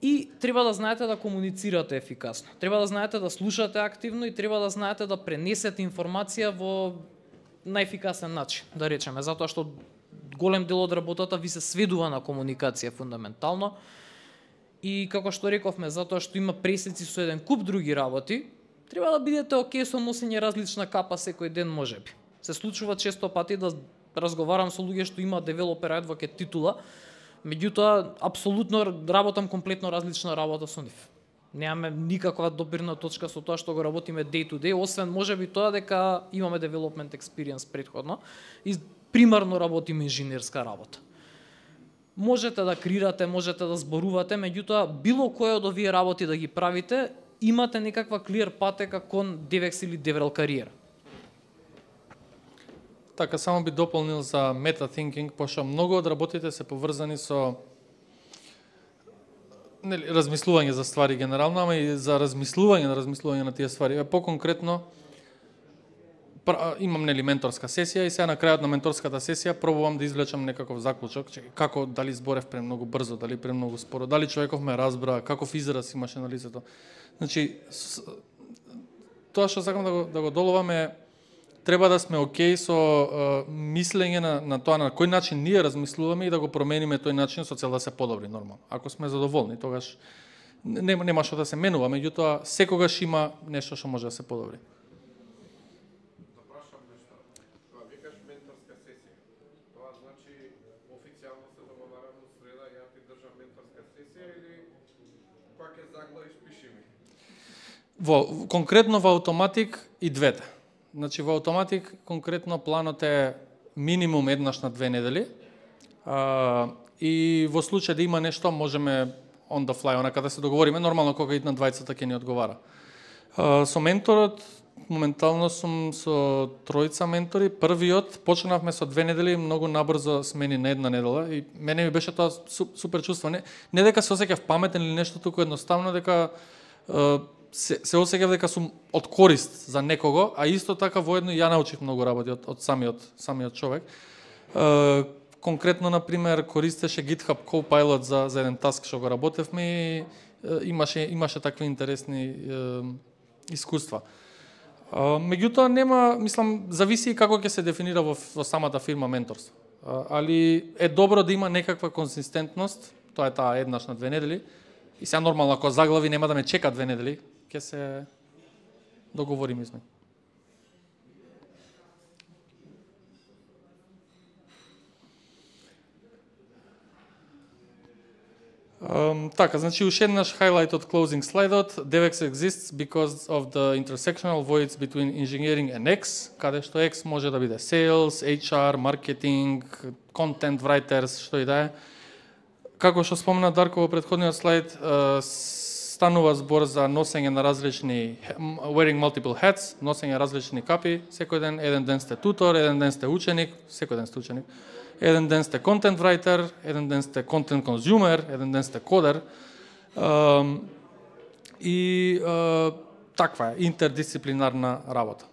И треба да знаете да комуницирате ефикасно. Треба да знаете да слушате активно и треба да знаете да пренесете информација во најефикасен начин, да речеме, затоа што голем дел од работата ви се сведува на комуникација фундаментално. И како што рековме, затоа што има пресеци со еден куп други работи, треба да бидете окей со носење различна капа секој ден можеби. Се случува често пати да разговарам со луѓе што имаат девелопер адвокат титула, меѓутоа апсолутно работам комплетно различна работа со нив. Немаме никаква допирна точка со тоа што го работиме day to day, освен можеби тоа дека имаме development experience претходно и примарно работиме инженерска работа. Можете да креирате, можете да зборувате, меѓутоа било кој од овие работи да ги правите, имате некаква clear патека кон DevEx или DevRel кариера. Така, само би дополнил за meta-thinking, пошто многу од работите се поврзани со размислување за ствари генерално, ама и за размислување на тие ствари. По-конкретно, имам менторска сесија и сега на крајот на менторската сесија пробувам да извлечам некаков заклучок, како дали зборев премногу брзо, дали премногу споро, дали човеков ме разбра, каков израз имаше на лицето. Значи, тоа што сакам да го доловам е треба да сме окей со мислење на тоа на кој начин ние размислуваме и да го промениме тој начин со цел да се подобри нормално. Ако сме задоволни, тогаш нема што да се менува, меѓутоа секогаш има нешто што може да се подобри. Да прашам нешто. Кога викаш менторска сесија, тоа значи официјално се договараме среда ја ти држам менторска сесија или пак е заглавиш пиши ми? Конкретно во Automattic и двете. Значи, во Automattic конкретно планот е минимум еднаш на 2 недели и во случај да има нешто можеме on the fly, онака да се договориме, нормално кога идна двајцата ќе ни одговара. Со менторот, моментално сум со тројца ментори, првиот почнавме со 2 недели, многу набрзо смени на 1 недела и мене ми беше тоа супер чувство. Не дека се осеќав паметен или нешто, туку едноставно дека се осеќав дека сум од корист за некого, а исто така воедно ја научив многу работи од самиот човек. Конкретно, например, користеше GitHub Copilot за еден таск што го работевме и имаше такви интересни искуства. Меѓутоа нема, мислам, зависи како ќе се дефинира во самата фирма менторство. Али е добро да има некаква консистентност Тоа е таа еднаш на 2 недели. И сега нормално, ако заглави нема да ме чека 2 недели, ќе се договориме изме. Така, значи уште еднаш highlight од closing слайдот. DevX exists because of the intersectional voids between engineering and X, каде што X може да биде sales, HR, marketing, content writers, што и да е. Како што спомна Дарко во претходниот слайд, станува збор за носење на различни wearing multiple hats, носење различни капи, секој ден, еден ден сте тутор, еден ден сте ученик, секој ден сте ученик. Еден ден сте content writer, еден ден сте content consumer, еден ден сте кодер. И таква е интердисциплинарна работа.